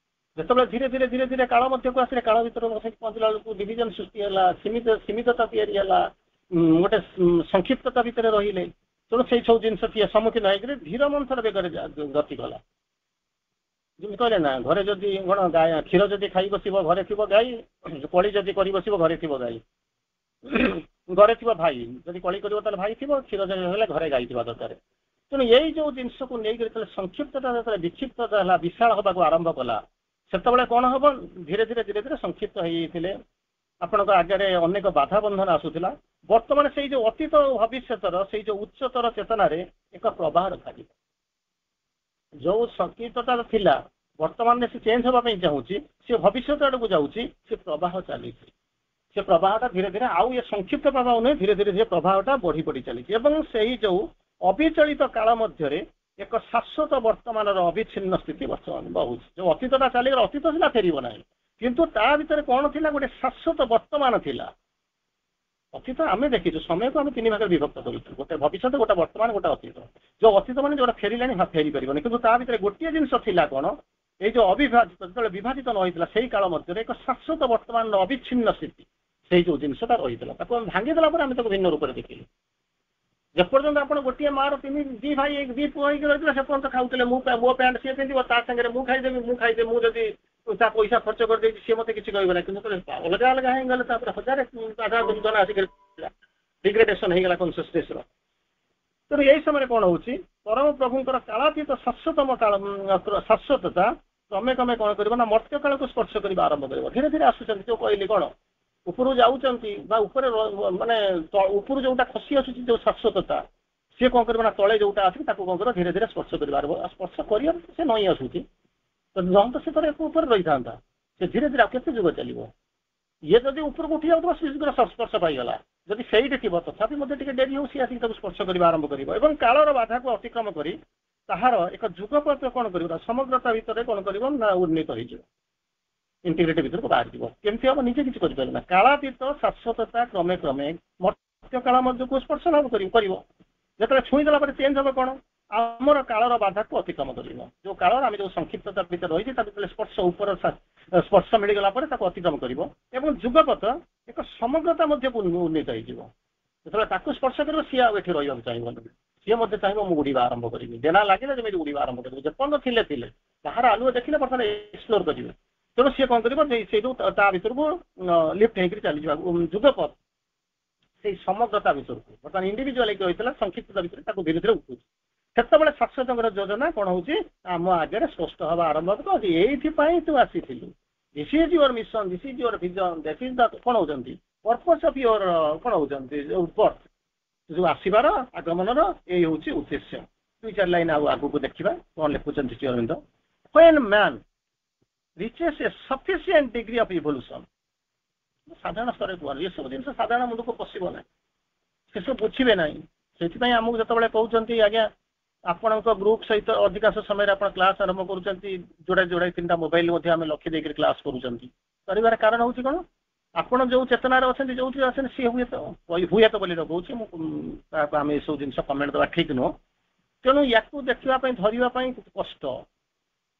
ଯେତେବେଳେ ଧୀରେ ଧୀରେ ଧୀରେ ଧୀରେ କାଳ ମଧ୍ୟକୁ ଆସିଲେ, କାଳ ଭିତରେ ବସିକି ପହଞ୍ଚିଲା ବେଳକୁ ଡିଭିଜନ ସୃଷ୍ଟି ହେଲା, ସୀମିତ ସୀମିତତା ତିଆରି ହେଲା, ଗୋଟେ ସଂକ୍ଷିପ୍ତତା ଭିତରେ ରହିଲେ। ତେଣୁ ସେଇ ସବୁ ଜିନିଷ ସମ୍ମୁଖୀନ ହେଇକରି ଧୀର ମନ୍ଥର ବେଗରେ ଗତି କଲା। ଯେମିତି କହିଲେ ନା, ଘରେ ଯଦି କଣ ଗାଈ, କ୍ଷୀର ଯଦି ଖାଇ ବସିବ, ଘରେ ଥିବ ଗାଈ। କଳି ଯଦି କରି ବସିବ, ଘରେ ଥିବ ଗାଈ, ଘରେ ଥିବ ଭାଇ। ଯଦି କଳି କରିବ ତାହେଲେ ଭାଇ ଥିବ, କ୍ଷୀର ଯଦି ହେଲେ ଘରେ ଗାଈ ଥିବା ଦରକାର। ତେଣୁ ଏଇ ଯୋଉ ଜିନିଷକୁ ନେଇକରି ଯେତେବେଳେ ସଂକ୍ଷିପ୍ତତା, ଯେତେବେଳେ ବିକ୍ଷିପ୍ତତା ହେଲା, ବିଶାଳ ହବାକୁ ଆରମ୍ଭ କଲା, ସେତେବେଳେ କଣ ହବ? ଧୀରେ ଧୀରେ ଧୀରେ ଧୀରେ ସଂକ୍ଷିପ୍ତ ହେଇଯାଇଥିଲେ, ଆପଣଙ୍କ ଆଗରେ ଅନେକ ବାଧା ବନ୍ଧନ ଆସୁଥିଲା। ବର୍ତ୍ତମାନ ସେଇ ଯୋଉ ଅତୀତ ଭବିଷ୍ୟତର ସେଇ ଯୋଉ ଉଚ୍ଚତର ଚେତନାରେ ଏକ ପ୍ରବାହ ରଖାଯିବ। ଯୋଉ ସଂକ୍ଷିପ୍ତତା ଥିଲା, ବର୍ତ୍ତମାନ ସେ ଚେଞ୍ଜ ହେବା ପାଇଁ ଚାହୁଁଛି, ସେ ଭବିଷ୍ୟତ ଆଡକୁ ଯାଉଛି, ସେ ପ୍ରବାହ ଚାଲିଛି। ସେ ପ୍ରବାହଟା ଧୀରେ ଧୀରେ ଆଉ ଏ ସଂକ୍ଷିପ୍ତ ପ୍ରବାହ ନୁହେଁ, ଧୀରେ ଧୀରେ ଧୀରେ ପ୍ରବାହଟା ବଢି ବଢି ଚାଲିଛି ଏବଂ ସେଇ ଯୋଉ ଅବିଚଳିତ କାଳ ମଧ୍ୟରେ ଏକ ଶାଶ୍ୱତ ବର୍ତ୍ତମାନର ଅବିଚ୍ଛିନ୍ନ ସ୍ଥିତି ବର୍ତ୍ତମାନ ବହୁଛି। ଯୋଉ ଅତୀତଟା ଚାଲିଗଲା, ଅତୀତ ଥିଲା, ଫେରିବ ନାହିଁ, କିନ୍ତୁ ତା ଭିତରେ କଣ ଥିଲା? ଗୋଟେ ଶାଶ୍ୱତ ବର୍ତ୍ତମାନ ଥିଲା। ଅତୀତ ଆମେ ଦେଖିଛୁ, ସମୟକୁ ଆମେ ତିନି ଭାଗରେ ବିଭକ୍ତ କରିଛୁ, ଗୋଟେ ଭବିଷ୍ୟତ, ଗୋଟେ ବର୍ତ୍ତମାନ, ଗୋଟେ ଅତୀତ। ଯୋଉ ଅତୀତ ମାନେ ଯୋଉଟା ଫେରିଲାଣି, ଫେରି ପାରିବନି, କିନ୍ତୁ ତା ଭିତରେ ଗୋଟିଏ ଜିନିଷ ଥିଲା କଣ? ଏଇ ଯୋଉ ଅବିଭାଜିତ, ଯେତେବେଳେ ବିଭାଜିତ ନ ହେଇଥିଲା, ସେଇ କାଳ ମଧ୍ୟରେ ଏକ ଶାଶ୍ୱତ ବର୍ତ୍ତମାନର ଅବିଚ୍ଛିନ୍ନ ସ୍ଥିତି। ସେଇ ଯୋଉ ଜିନିଷଟା ରହିଥିଲା ତାକୁ ଆମେ ଭାଙ୍ଗିଦେଲା ପରେ ଆମେ ତାକୁ ଭିନ୍ନ ରୂପରେ ଦେଖିଲୁ ଯେପର୍ଯ୍ୟନ୍ତ ଆପଣ ଗୋଟିଏ ମାର ତିନି ଦି ଭାଇ ଦି ପୁଅ ହେଇକି ରହିଥିଲେ ସେ ପର୍ଯ୍ୟନ୍ତ ଖାଉଥିଲେ ମୁଁ ମୋ ପ୍ୟାଣ୍ଟ ସିଏ ପିନ୍ଧିବ ତା ସାଙ୍ଗରେ ମୁଁ ଖାଇଦେବି ମୁଁ ଖାଇଦେବି ମୁଁ ଯଦି ତା ପଇସା ଖର୍ଚ୍ଚ କରିଦେଇଛି ସିଏ ମତେ କିଛି କହିବ ନାହିଁ କିନ୍ତୁ ଅଲଗା ଅଲଗା ହେଇଗଲେ ତାପରେ ହଜାରେ ବାଧା ଦୁର୍ଘଟଣା ଆସିକି ଡିଗ୍ରେଡେସନ ହେଇଗଲା କନସିୟସନେସର ତେଣୁ ଏଇ ସମୟରେ କଣ ହଉଛି ପରମ ପ୍ରଭୁଙ୍କର କାଳାତୀତ ଶାଶ୍ୱତମ କାଳ ଶାଶ୍ୱତତା କ୍ରମେ କ୍ରମେ କଣ କରିବ ନା ମର୍ତ୍ତ୍ୟ କାଳକୁ ସ୍ପର୍ଶ କରିବା ଆରମ୍ଭ କରିବ ଧୀରେ ଧୀରେ ଆସୁଛନ୍ତି ଯୋଉ କହିଲି କଣ ଉପରୁ ଯାଉଛନ୍ତି ବା ଉପରେ ମାନେ ଉପରୁ ଯୋଉଟା ଖସି ଆସୁଛି ଯୋଉ ଶାଶ୍ୱତତା ସିଏ କଣ କରିବ ନା ତଳେ ଯୋଉଟା ଅଛି ତାକୁ କଣ କରିବ ଧୀରେ ଧୀରେ ସ୍ପର୍ଶ କରିବା ଆରମ୍ଭ ସ୍ପର୍ଶ କରିବା ସେ ନଇଁ ଆସୁଛି ତ ନହେଲେ ତ ସେ ତାର ଉପରେ ରହିଥାନ୍ତା ସେ ଧୀରେ ଧୀରେ ଆଉ କେତେ ଯୁଗ ଚାଲିବ ଇଏ ଯଦି ଉପରକୁ ଉଠି ଯାଉଥିବ ସେ ଶୀଘ୍ର ସ୍ପର୍ଶ ପାଇଗଲା ଯଦି ସେଇଠି ଥିବ ତଥାପି ମଧ୍ୟ ଟିକେ ଡେରି ହଉ ସିଏ ଆସିକି ତାକୁ ସ୍ପର୍ଶ କରିବା ଆରମ୍ଭ କରିବ ଏବଂ କାଳର ବାଧାକୁ ଅତିକ୍ରମ କରି ତାହାର ଏକ ଯୁଗପଥ କଣ କରିବ ନା ସମଗ୍ରତା ଭିତରେ କଣ କରିବ ନା ଉନ୍ନୀତ ହେଇଯିବ ଇଣ୍ଟିଗ୍ରିଟି ଭିତରକୁ ବାହାରିଯିବ କେମିତି ହବ ନିଜେ କିଛି କରିପାରିବ ନା କାଳାତୀତ ଶାଶ୍ୱତତା କ୍ରମେ କ୍ରମେ ମର୍ତ୍ତ୍ୟ କାଳ ମଧ୍ୟକୁ ସ୍ପର୍ଶ ଲାଭ କରିବ କରିବ ଯେତେବେଳେ ଛୁଇଁଦେଲା ପରେ ଚେଞ୍ଜ ହବ କଣ ଆମର କାଳର ବାଧାକୁ ଅତିକ୍ରମ କରିବ ଯୋଉ କାଳର ଆମେ ଯୋଉ ସଂକ୍ଷିପ୍ତତା ଭିତରେ ରହିଛି ତା ଭିତରେ ସ୍ପର୍ଶ ଉପର ସ୍ପର୍ଶ ମିଳିଗଲା ପରେ ତାକୁ ଅତିକ୍ରମ କରିବ ଏବଂ ଯୁଗପଥ ଏକ ସମଗ୍ରତା ମଧ୍ୟକୁ ଉନ୍ନୀତ ହେଇଯିବ ଯେତେବେଳେ ତାକୁ ସ୍ପର୍ଶ କରିବ ସିଏ ଆଉ ଏଠି ରହିବାକୁ ଚାହିଁବନି ସିଏ ମଧ୍ୟ ଚାହିଁବ ମୁଁ ଉଡ଼ିବା ଆରମ୍ଭ କରିବି ଡେଣା ଲାଗିଲେ ଯେମିତି ଉଡ଼ିବା ଆରମ୍ଭ କରିବି ଯେପର୍ଯ୍ୟନ୍ତ ଥିଲେ ଥିଲେ ବାହାର ଆଲୁଅ ଦେଖିଲେ ବର୍ତ୍ତମାନ ଏକ୍ସପ୍ଲୋର କରିବେ ତେଣୁ ସିଏ କଣ କରିବ ସେଇଠୁ ତା ଭିତରକୁ ଲିଫ୍ଟ ହେଇକରି ଚାଲିଯିବ ଯୁଗପଥ ସେଇ ସମଗ୍ରତା ଭିତରକୁ ବର୍ତ୍ତମାନ ଇଣ୍ଡିଭିଜୁଆଲ ହେଇକି ରହିଥିଲା ସଂକ୍ଷିପ୍ତତା ଭିତରେ ତାକୁ ଧୀରେ ଧୀରେ ଉଠୁଛି ସେତେବେଳେ ଶାଶ୍ୱତଙ୍କର ଯୋଜନା କଣ ହଉଛି ଆମ ଆଗରେ ସ୍ପଷ୍ଟ ହବା ଆରମ୍ଭ ହବ ଏଇଥିପାଇଁ ତୁ ଆସିଥିଲୁ this is your mission this is your vision this is the କଣ ହଉଛନ୍ତି ପର୍ପସ୍ ଅଫ your କଣ ହଉଛନ୍ତି ଯୋଉ ବର୍ଥ ଯୋଉ ଆସିବାର ଆଗମନର ଏଇ ହଉଛି ଉଦ୍ଦେଶ୍ୟ ଦୁଇ ଚାରି ଲାଇନ ଆଉ ଆଗକୁ ଦେଖିବା କଣ ଲେଖୁଛନ୍ତି Shri Arvind when man reaches a sufficient degree of evolution ସାଧାରଣ ସ୍ତରରେ କୁହନି ଏସବୁ ଜିନିଷ ସାଧାରଣ ମୁଣ୍ଡକୁ ପଶିବ ନାହିଁ ସେସବୁ ବୁଝିବେ ନାହିଁ ସେଥିପାଇଁ ଆମକୁ ଯେତେବେଳେ କହୁଛନ୍ତି ଆଜ୍ଞା ଆପଣଙ୍କ ଗ୍ରୁପ ସହିତ ଅଧିକାଂଶ ସମୟରେ ଆପଣ କ୍ଲାସ ଆରମ୍ଭ କରୁଛନ୍ତି ଯୋଡ଼ାଏ ଯୋଡ଼ାଏ ତିନିଟା ମୋବାଇଲ ମଧ୍ୟ ଆମେ ଲକ୍ଷ୍ୟ ଦେଇକରି କ୍ଲାସ କରୁଛନ୍ତି କରିବାର କାରଣ ହଉଛି କଣ ଆପଣ ଯୋଉ ଚେତନାରେ ଅଛନ୍ତି ଯୋଉଥିରେ ଅଛନ୍ତି ସିଏ ହୁଏତ ହୁଏତ ବୋଲି କହୁଛି ମୁଁ ତାହାକୁ ଆମେ ଏସବୁ ଜିନିଷ କମେଣ୍ଟ ଦେବା ଠିକ ନୁହଁ ତେଣୁ ୟାକୁ ଦେଖିବା ପାଇଁ ଧରିବା ପାଇଁ କଷ୍ଟ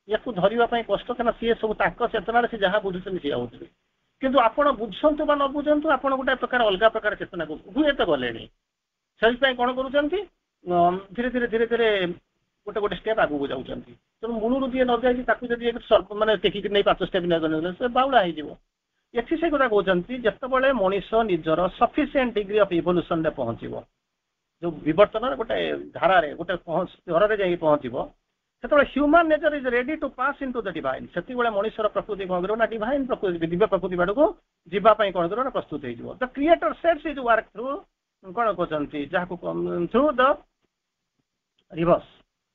ୟାକୁ ଧରିବା ପାଇଁ କଷ୍ଟ କାରଣ ସିଏ ସବୁ ତାଙ୍କ ଚେତନାରେ ସେ ଯାହା ବୁଝୁଛନ୍ତି ସିଏ ହଉଥିବେ କିନ୍ତୁ ଆପଣ ବୁଝନ୍ତୁ ବା ନ ବୁଝନ୍ତୁ ଆପଣ ଗୋଟେ ପ୍ରକାର ଅଲଗା ପ୍ରକାର ଚେତନାକୁ ହୁଏତ ଗଲେଣି ସେଥିପାଇଁ କଣ କରୁଛନ୍ତି ଧୀରେ ଧୀରେ ଧୀରେ ଧୀରେ ଗୋଟେ ଗୋଟେ ଷ୍ଟେପ୍ ଆଗକୁ ଯାଉଛନ୍ତି ତେଣୁ ମୂଳରୁ ଯିଏ ନ ଯାଇଛି ତାକୁ ଯଦି ମାନେ ଟେକିକି ନେଇ ପାଞ୍ଚ ଷ୍ଟେପ୍ ନେଇ ସେ ବାଉଳା ହେଇଯିବ ଏଠି ସେ କଥା କହୁଛନ୍ତି ଯେତେବେଳେ ମଣିଷ ନିଜର ସଫିସିଏଣ୍ଟ ଡିଗ୍ରୀ ଅଫ ଇଭଲ୍ୟୁସନରେ ପହଞ୍ଚିବ ଯୋଉ ବିବର୍ତ୍ତନର ଗୋଟେ ଧାରାରେ ଗୋଟେ ସ୍ତରରେ ଯାଇକି ପହଞ୍ଚିବ ସେତେବେଳେ human nature is ready to pass into the divine ସେତିକିବେଳେ ମଣିଷର ପ୍ରକୃତି କଣ କରିବ ନା ଡିଭାଇନ୍ ପ୍ରକୃତି ଦିବ୍ୟ ପ୍ରକୃତି ଆଡ଼କୁ ଯିବା ପାଇଁ କଣ କରିବ ନା ପ୍ରସ୍ତୁତ ହେଇଯିବ the creator sets his work through କଣ କହୁଛନ୍ତି ଯାହାକୁ ଥ୍ରୁ ଦ ରିଭର୍ସ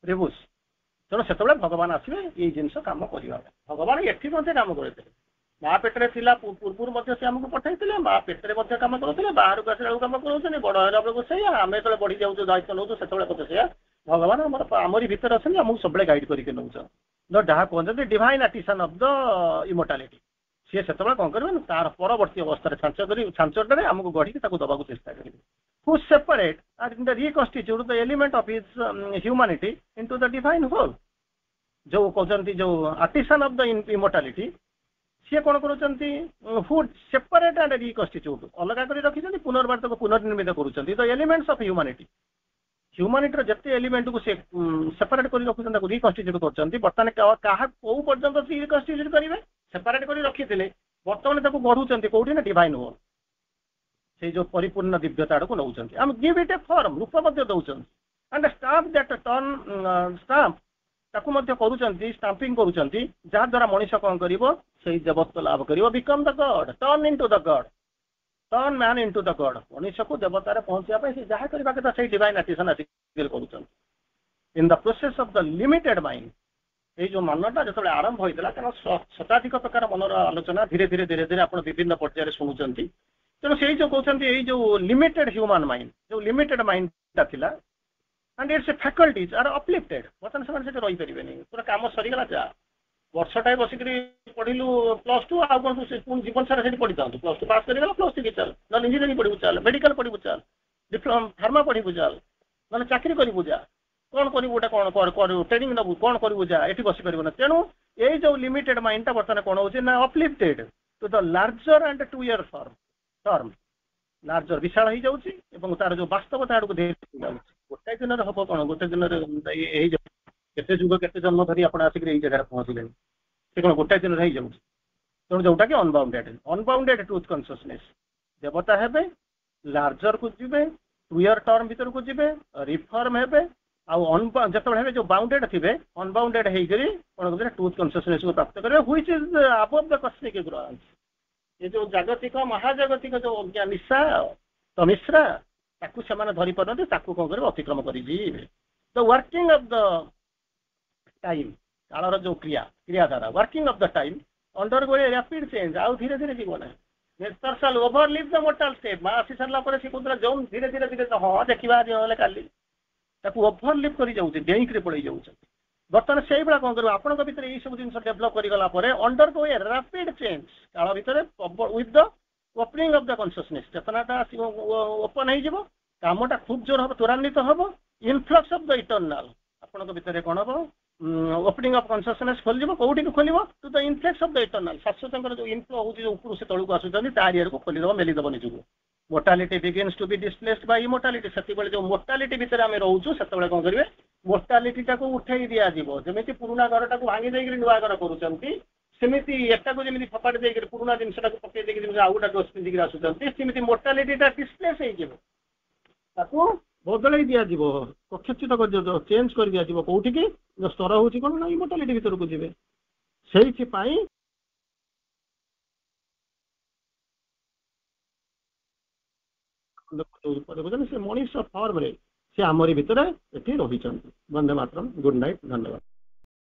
ରିଭୁସ୍ ତେଣୁ ସେତେବେଳେ ଭଗବାନ ଆସିବେ ଏଇ ଜିନିଷ କାମ କରିବା ପାଇଁ ଭଗବାନ ଏଠି ମଧ୍ୟ କାମ କରିଥିଲେ ମା ପେଟରେ ଥିଲା ପୂର୍ବରୁ ମଧ୍ୟ ସେ ଆମକୁ ପଠେଇଥିଲେ ମା ପେଟରେ ମଧ୍ୟ କାମ କରୁଥିଲେ ବାହାରକୁ ଆସିଲା ବେଳକୁ କାମ କରୁଛନ୍ତି ବଡ ହେଲା ବେଳକୁ ସେଇଆ ଆମେ ଯେତେବେଳେ ବଢି ଯାଉଛୁ ଦାୟିତ୍ୱ ନେଉଛୁ ସେତେବେଳେ ମଧ୍ୟ ସେଇଆ ଭଗବାନ ଆମର ଆମରି ଭିତରେ ଅଛନ୍ତି ଆମକୁ ସବୁବେଳେ ଗାଇଡ୍ କରିକି ନେଉଛନ୍ତି ଯାହା କୁହନ୍ତି divine artisan of the immortality ସିଏ ସେତେବେଳେ କଣ କରିବେ ନା ତାର ପରବର୍ତ୍ତୀ ଅବସ୍ଥାରେ ଛାଞ୍ଚ କରି ଛାଞ୍ଚଟାରେ ଆମକୁ ଗଢିକି ତାକୁ ଦବାକୁ ଚେଷ୍ଟା କରିବେ who separate and reconstitute the element of his um, humanity into the divine whole ଯୋଉ କହୁଛନ୍ତି ଯୋଉ ଆର୍ଟିସାନ ଅଫ the ଇମୋର୍ଟାଲିଟି ସିଏ କଣ କରୁଛନ୍ତି ହୁ ସେପାରେଟ୍ ଆଣ୍ଡ ରିକନଷ୍ଟିଚ୍ୟୁଟ୍ ଅଲଗା କରି ରଖିଛନ୍ତି ପୁନର୍ବାର ତାକୁ ପୁନର୍ନିର୍ମିତ କରୁଛନ୍ତି ଦ ଏଲିମେଣ୍ଟସ ଅଫ ହ୍ୟୁମାନିଟି ହ୍ୟୁମାନିଟିର ଯେତେ ଏଲିମେଣ୍ଟକୁ ସେ ସେପାରେଟ୍ କରି ରଖୁଛନ୍ତି ତାକୁ ରିକନଷ୍ଟିଚ୍ୟୁଟ୍ କରୁଛନ୍ତି ବର୍ତ୍ତମାନ କାହା କୋଉ ପର୍ଯ୍ୟନ୍ତ ସେ ରିକନଷ୍ଟିଚ୍ୟୁଟ୍ କରିବେ ସେପାରେଟ୍ କରି ରଖିଥିଲେ ବର୍ତ୍ତମାନ ତାକୁ ଗଢୁଛନ୍ତି କୋଉଠି ନା ଡିଭାଇନ ହୋଲ୍ ସେଇ ଯୋଉ ପରିପୂର୍ଣ୍ଣ ଦିବ୍ୟତା ଆଡକୁ ନଉଛନ୍ତି ଆମେ ଗିଭ୍ ଇଟ୍ ଏ ଫର୍ମ ରୂପ ମଧ୍ୟ ଦଉଛନ୍ତି and stamp that turn stamp ତାକୁ ମଧ୍ୟ କରୁଛନ୍ତି ଷ୍ଟାମ୍ପିଂ କରୁଛନ୍ତି ଯାହାଦ୍ୱାରା ମଣିଷ କଣ କରିବ ସେଇ ଦେବତ୍ୱ ଲାଭ କରିବ become the god turn into the god turn man into the god ମଣିଷକୁ ଦେବତାରେ ପହଞ୍ଚିବା ପାଇଁ ସେ ଯାହା କରିବା କଥା ସେଇ ଡିଭାଇନ ଆର୍ଟିସାନ ଆସିକି କରୁଛନ୍ତି in the process of the limited mind ଏଇ ଯୋଉ ମନଟା ଯେତେବେଳେ ଆରମ୍ଭ ହୋଇଥିଲା କାରଣ ଶତାଧିକ ପ୍ରକାର ମନର ଆଲୋଚନା ଧୀରେ ଧୀରେ ଧୀରେ ଧୀରେ ଆପଣ ବିଭିନ୍ନ ପର୍ଯ୍ୟାୟରେ ଶୁଣୁଛନ୍ତି ତେଣୁ ସେଇ ଯୋଉ କହୁଛନ୍ତି ଏଇ ଯୋଉ ଲିମିଟେଡ ହ୍ୟୁମାନ ମାଇଣ୍ଡ ଯୋଉ ଲିମିଟେଡ ମାଇଣ୍ଡଟା ଥିଲା and its faculties are uplifted ବର୍ତ୍ତମାନ ସେମାନେ ସେଠି ରହିପାରିବେନି ପୁରା କାମ ସରିଗଲା ଯା ବର୍ଷଟାଏ ବସିକିରି ପଢିଲୁ ପ୍ଲସ୍ ଟୁ ଆଉ କଣ ତୁ ପୁଣି ଜୀବନ ସାରା ସେଠି ପଢିଥାନ୍ତୁ ପ୍ଲସ୍ ଟୁ ପାସ୍ କରିଗଲା ପ୍ଲସ୍ ଥ୍ରୀ ଚାଲ ନହେଲେ ଇଞ୍ଜିନିୟରିଂ ପଢିବୁ ଚାଲ ମେଡିକାଲ ପଢିବୁ ଚାଲ ଡିପ୍ଲୋମା ଫାର୍ମା ପଢିବୁ ଚାଲ ନହେଲେ ଚାକିରି କରିବୁ ଯା କଣ କରିବୁ ଗୋଟେ କଣ କରିବୁ ଟ୍ରେନିଂ ନେବୁ କଣ କରିବୁ ଯା ଏଠି ବସିପାରିବୁ ନା ତେଣୁ ଏଇ ଯୋଉ ଲିମିଟେଡ ମାଇଣ୍ଡଟା ବର୍ତ୍ତମାନ କଣ ହଉଛି ନା uplifted to the larger and truer form term larger ବିଶାଳ ହେଇଯାଉଛି ଏବଂ ତାର ଯୋଉ ବାସ୍ତବତା ଆଡକୁ ଧୀରେ ଧୀରେ ଯାଉଛି ଗୋଟାଏ ଦିନରେ ହବ କଣ ଗୋଟେ ଦିନରେ ହେଇଯାଉଛି କେତେ ଯୁଗ କେତେ ଜନ୍ମ ଧରି ଆପଣ ଆସିକରି ଏଇ ଜାଗାରେ ପହଞ୍ଚିଲେଣି ସେ କଣ ଗୋଟାଏ ଦିନରେ ହେଇଯାଉଛି ତେଣୁ ଯୋଉଟା କି ଅନବାଉଣ୍ଡେଡ ଅନବାଉଣ୍ଡେଡ ଟ୍ରୁଥ କନସିୟସନେସ୍ ଦେବତା ହେବେ ଲାର୍ଜରକୁ ଯିବେ ଟୁୟର ଟର୍ମ ଭିତରକୁ ଯିବେ ରିଫର୍ମ ହେବେ ଆଉ ଯେତେବେଳେ ହେବେ ଯୋଉ ବାଉଣ୍ଡେଡ ଥିବେ ଅନବାଉଣ୍ଡେଡ ହେଇକରି କଣ କରିବେ ଟ୍ରୁଥ କନସିୟସନେସକୁ ପ୍ରାପ୍ତ କରିବେ which is above the cosmic ignorance ଏ ଯୋଉ ଜାଗତିକ ମହାଜାଗତିକ ଯୋଉ ଅଜ୍ଞା ନିଶା ତମିଶ୍ରା ତାକୁ ସେମାନେ ଧରି ପାରୁନାହାନ୍ତି ତାକୁ କଣ କରିବେ ଅତିକ୍ରମ କରିଯିବେ the working of the time କାଳର ଯୋଉ କ୍ରିୟା କ୍ରିୟାଧାରା working of the time undergo a rapid change ଆଉ ଧୀରେ ଧୀରେ ଯିବ ନାହିଁ nature shall overleap the mortal step ମା ଆସି ସାରିଲା ପରେ ସେ କହୁଥିଲା ଯୋଉ ଧୀରେ ଧୀରେ ଧୀରେ ହଁ ଦେଖିବା ଆଜି ନହେଲେ କାଲି ତାକୁ ଓଭରଲିପ୍ କରି ଯାଉଛି ଡେଇଁକିରି ପଳେଇ ଯାଉଛନ୍ତି ବର୍ତ୍ତମାନ ସେଇଭଳିଆ କଣ କରିବ ଆପଣଙ୍କ ଭିତରେ ଏଇ ସବୁ ଜିନିଷ ଡେଭଲପ କରିଗଲା ପରେ ଅଣ୍ଡରଗୋ ଏ ରାପିଡ ଚେଞ୍ଜ କାଳ ଭିତରେ with the opening of the consciousness ଚେତନାଟା ଆସିବ ଓପନ ହେଇଯିବ କାମଟା ଖୁବ ଜୋର ହବ ତ୍ୱରାନ୍ୱିତ ହବ ଇନଫ୍ଲକ୍ସ ଅଫ the ଇଟର୍ନାଲ ଆପଣଙ୍କ ଭିତରେ କଣ ହବ ଓପନିଂ ଅଫ କନସିୟସନେସ୍ ଖୋଲିଯିବ କୋଉଠିକି ଖୋଲିବ to the influx of the eternal ଶାଶ୍ୱତଙ୍କର ଯୋଉ ଇନଫ୍ଲୋ ହଉଛି ଯୋଉ ଉପରୁ ସେ ତଳକୁ ଆସୁଛନ୍ତି ତାରି ଆଡକୁ ଖୋଲିଦବ ମେଲିଦବ ନିଜକୁ mortality begins to be displaced by immortality ସେତେବେଳେ ଯୋଉ ମୋର୍ଟାଲିଟି ଭିତରେ ଆମେ ରହୁଛୁ ସେତେବେଳେ କଣ କରିବେ ମୋର୍ଟାଲିଟିଟାକୁ ଉଠେଇ ଦିଆଯିବ ଯେମିତି ପୁରୁଣା ଘରଟାକୁ ଭାଙ୍ଗି ଦେଇକିରି ନୂଆ ଘର କରୁଛନ୍ତି ସେମିତି ଏଟାକୁ ଯେମିତି ଫୋପାଡ଼ି ଦେଇକିରି ପୁରୁଣା ଜିନିଷଟାକୁ ପକେଇ ଦେଇକି ଯେମିତି ଆଉ ଗୋଟେ ଡ୍ରେସ୍ ପିନ୍ଧିକିରି ଆସୁଛନ୍ତି ସେମିତି ମୋର୍ଟାଲିଟିଟା ଡିସପ୍ଲେସ୍ ହେଇଯିବ ତାକୁ ବଦଳେଇ ଦିଆଯିବ କକ୍ଷଚ୍ୟୁତ କରିଦିଆଯିବ ଚେଞ୍ଜ କରିଦିଆଯିବ କୋଉଠିକି ସ୍ତର ହଉଛି କଣ ନା ଇମୋର୍ଟାଲିଟି ଭିତରକୁ ଯିବେ ସେଇଥିପାଇଁ ଦେଖୁଛନ୍ତି ସେ ମଣିଷ ଫର୍ମରେ ସେ ଆମରି ଭିତରେ ଏଠି ରହିଛନ୍ତି ବନ୍ଦେ ମାତରମ୍ ଗୁଡ୍ ନାଇଟ୍ ଧନ୍ୟବାଦ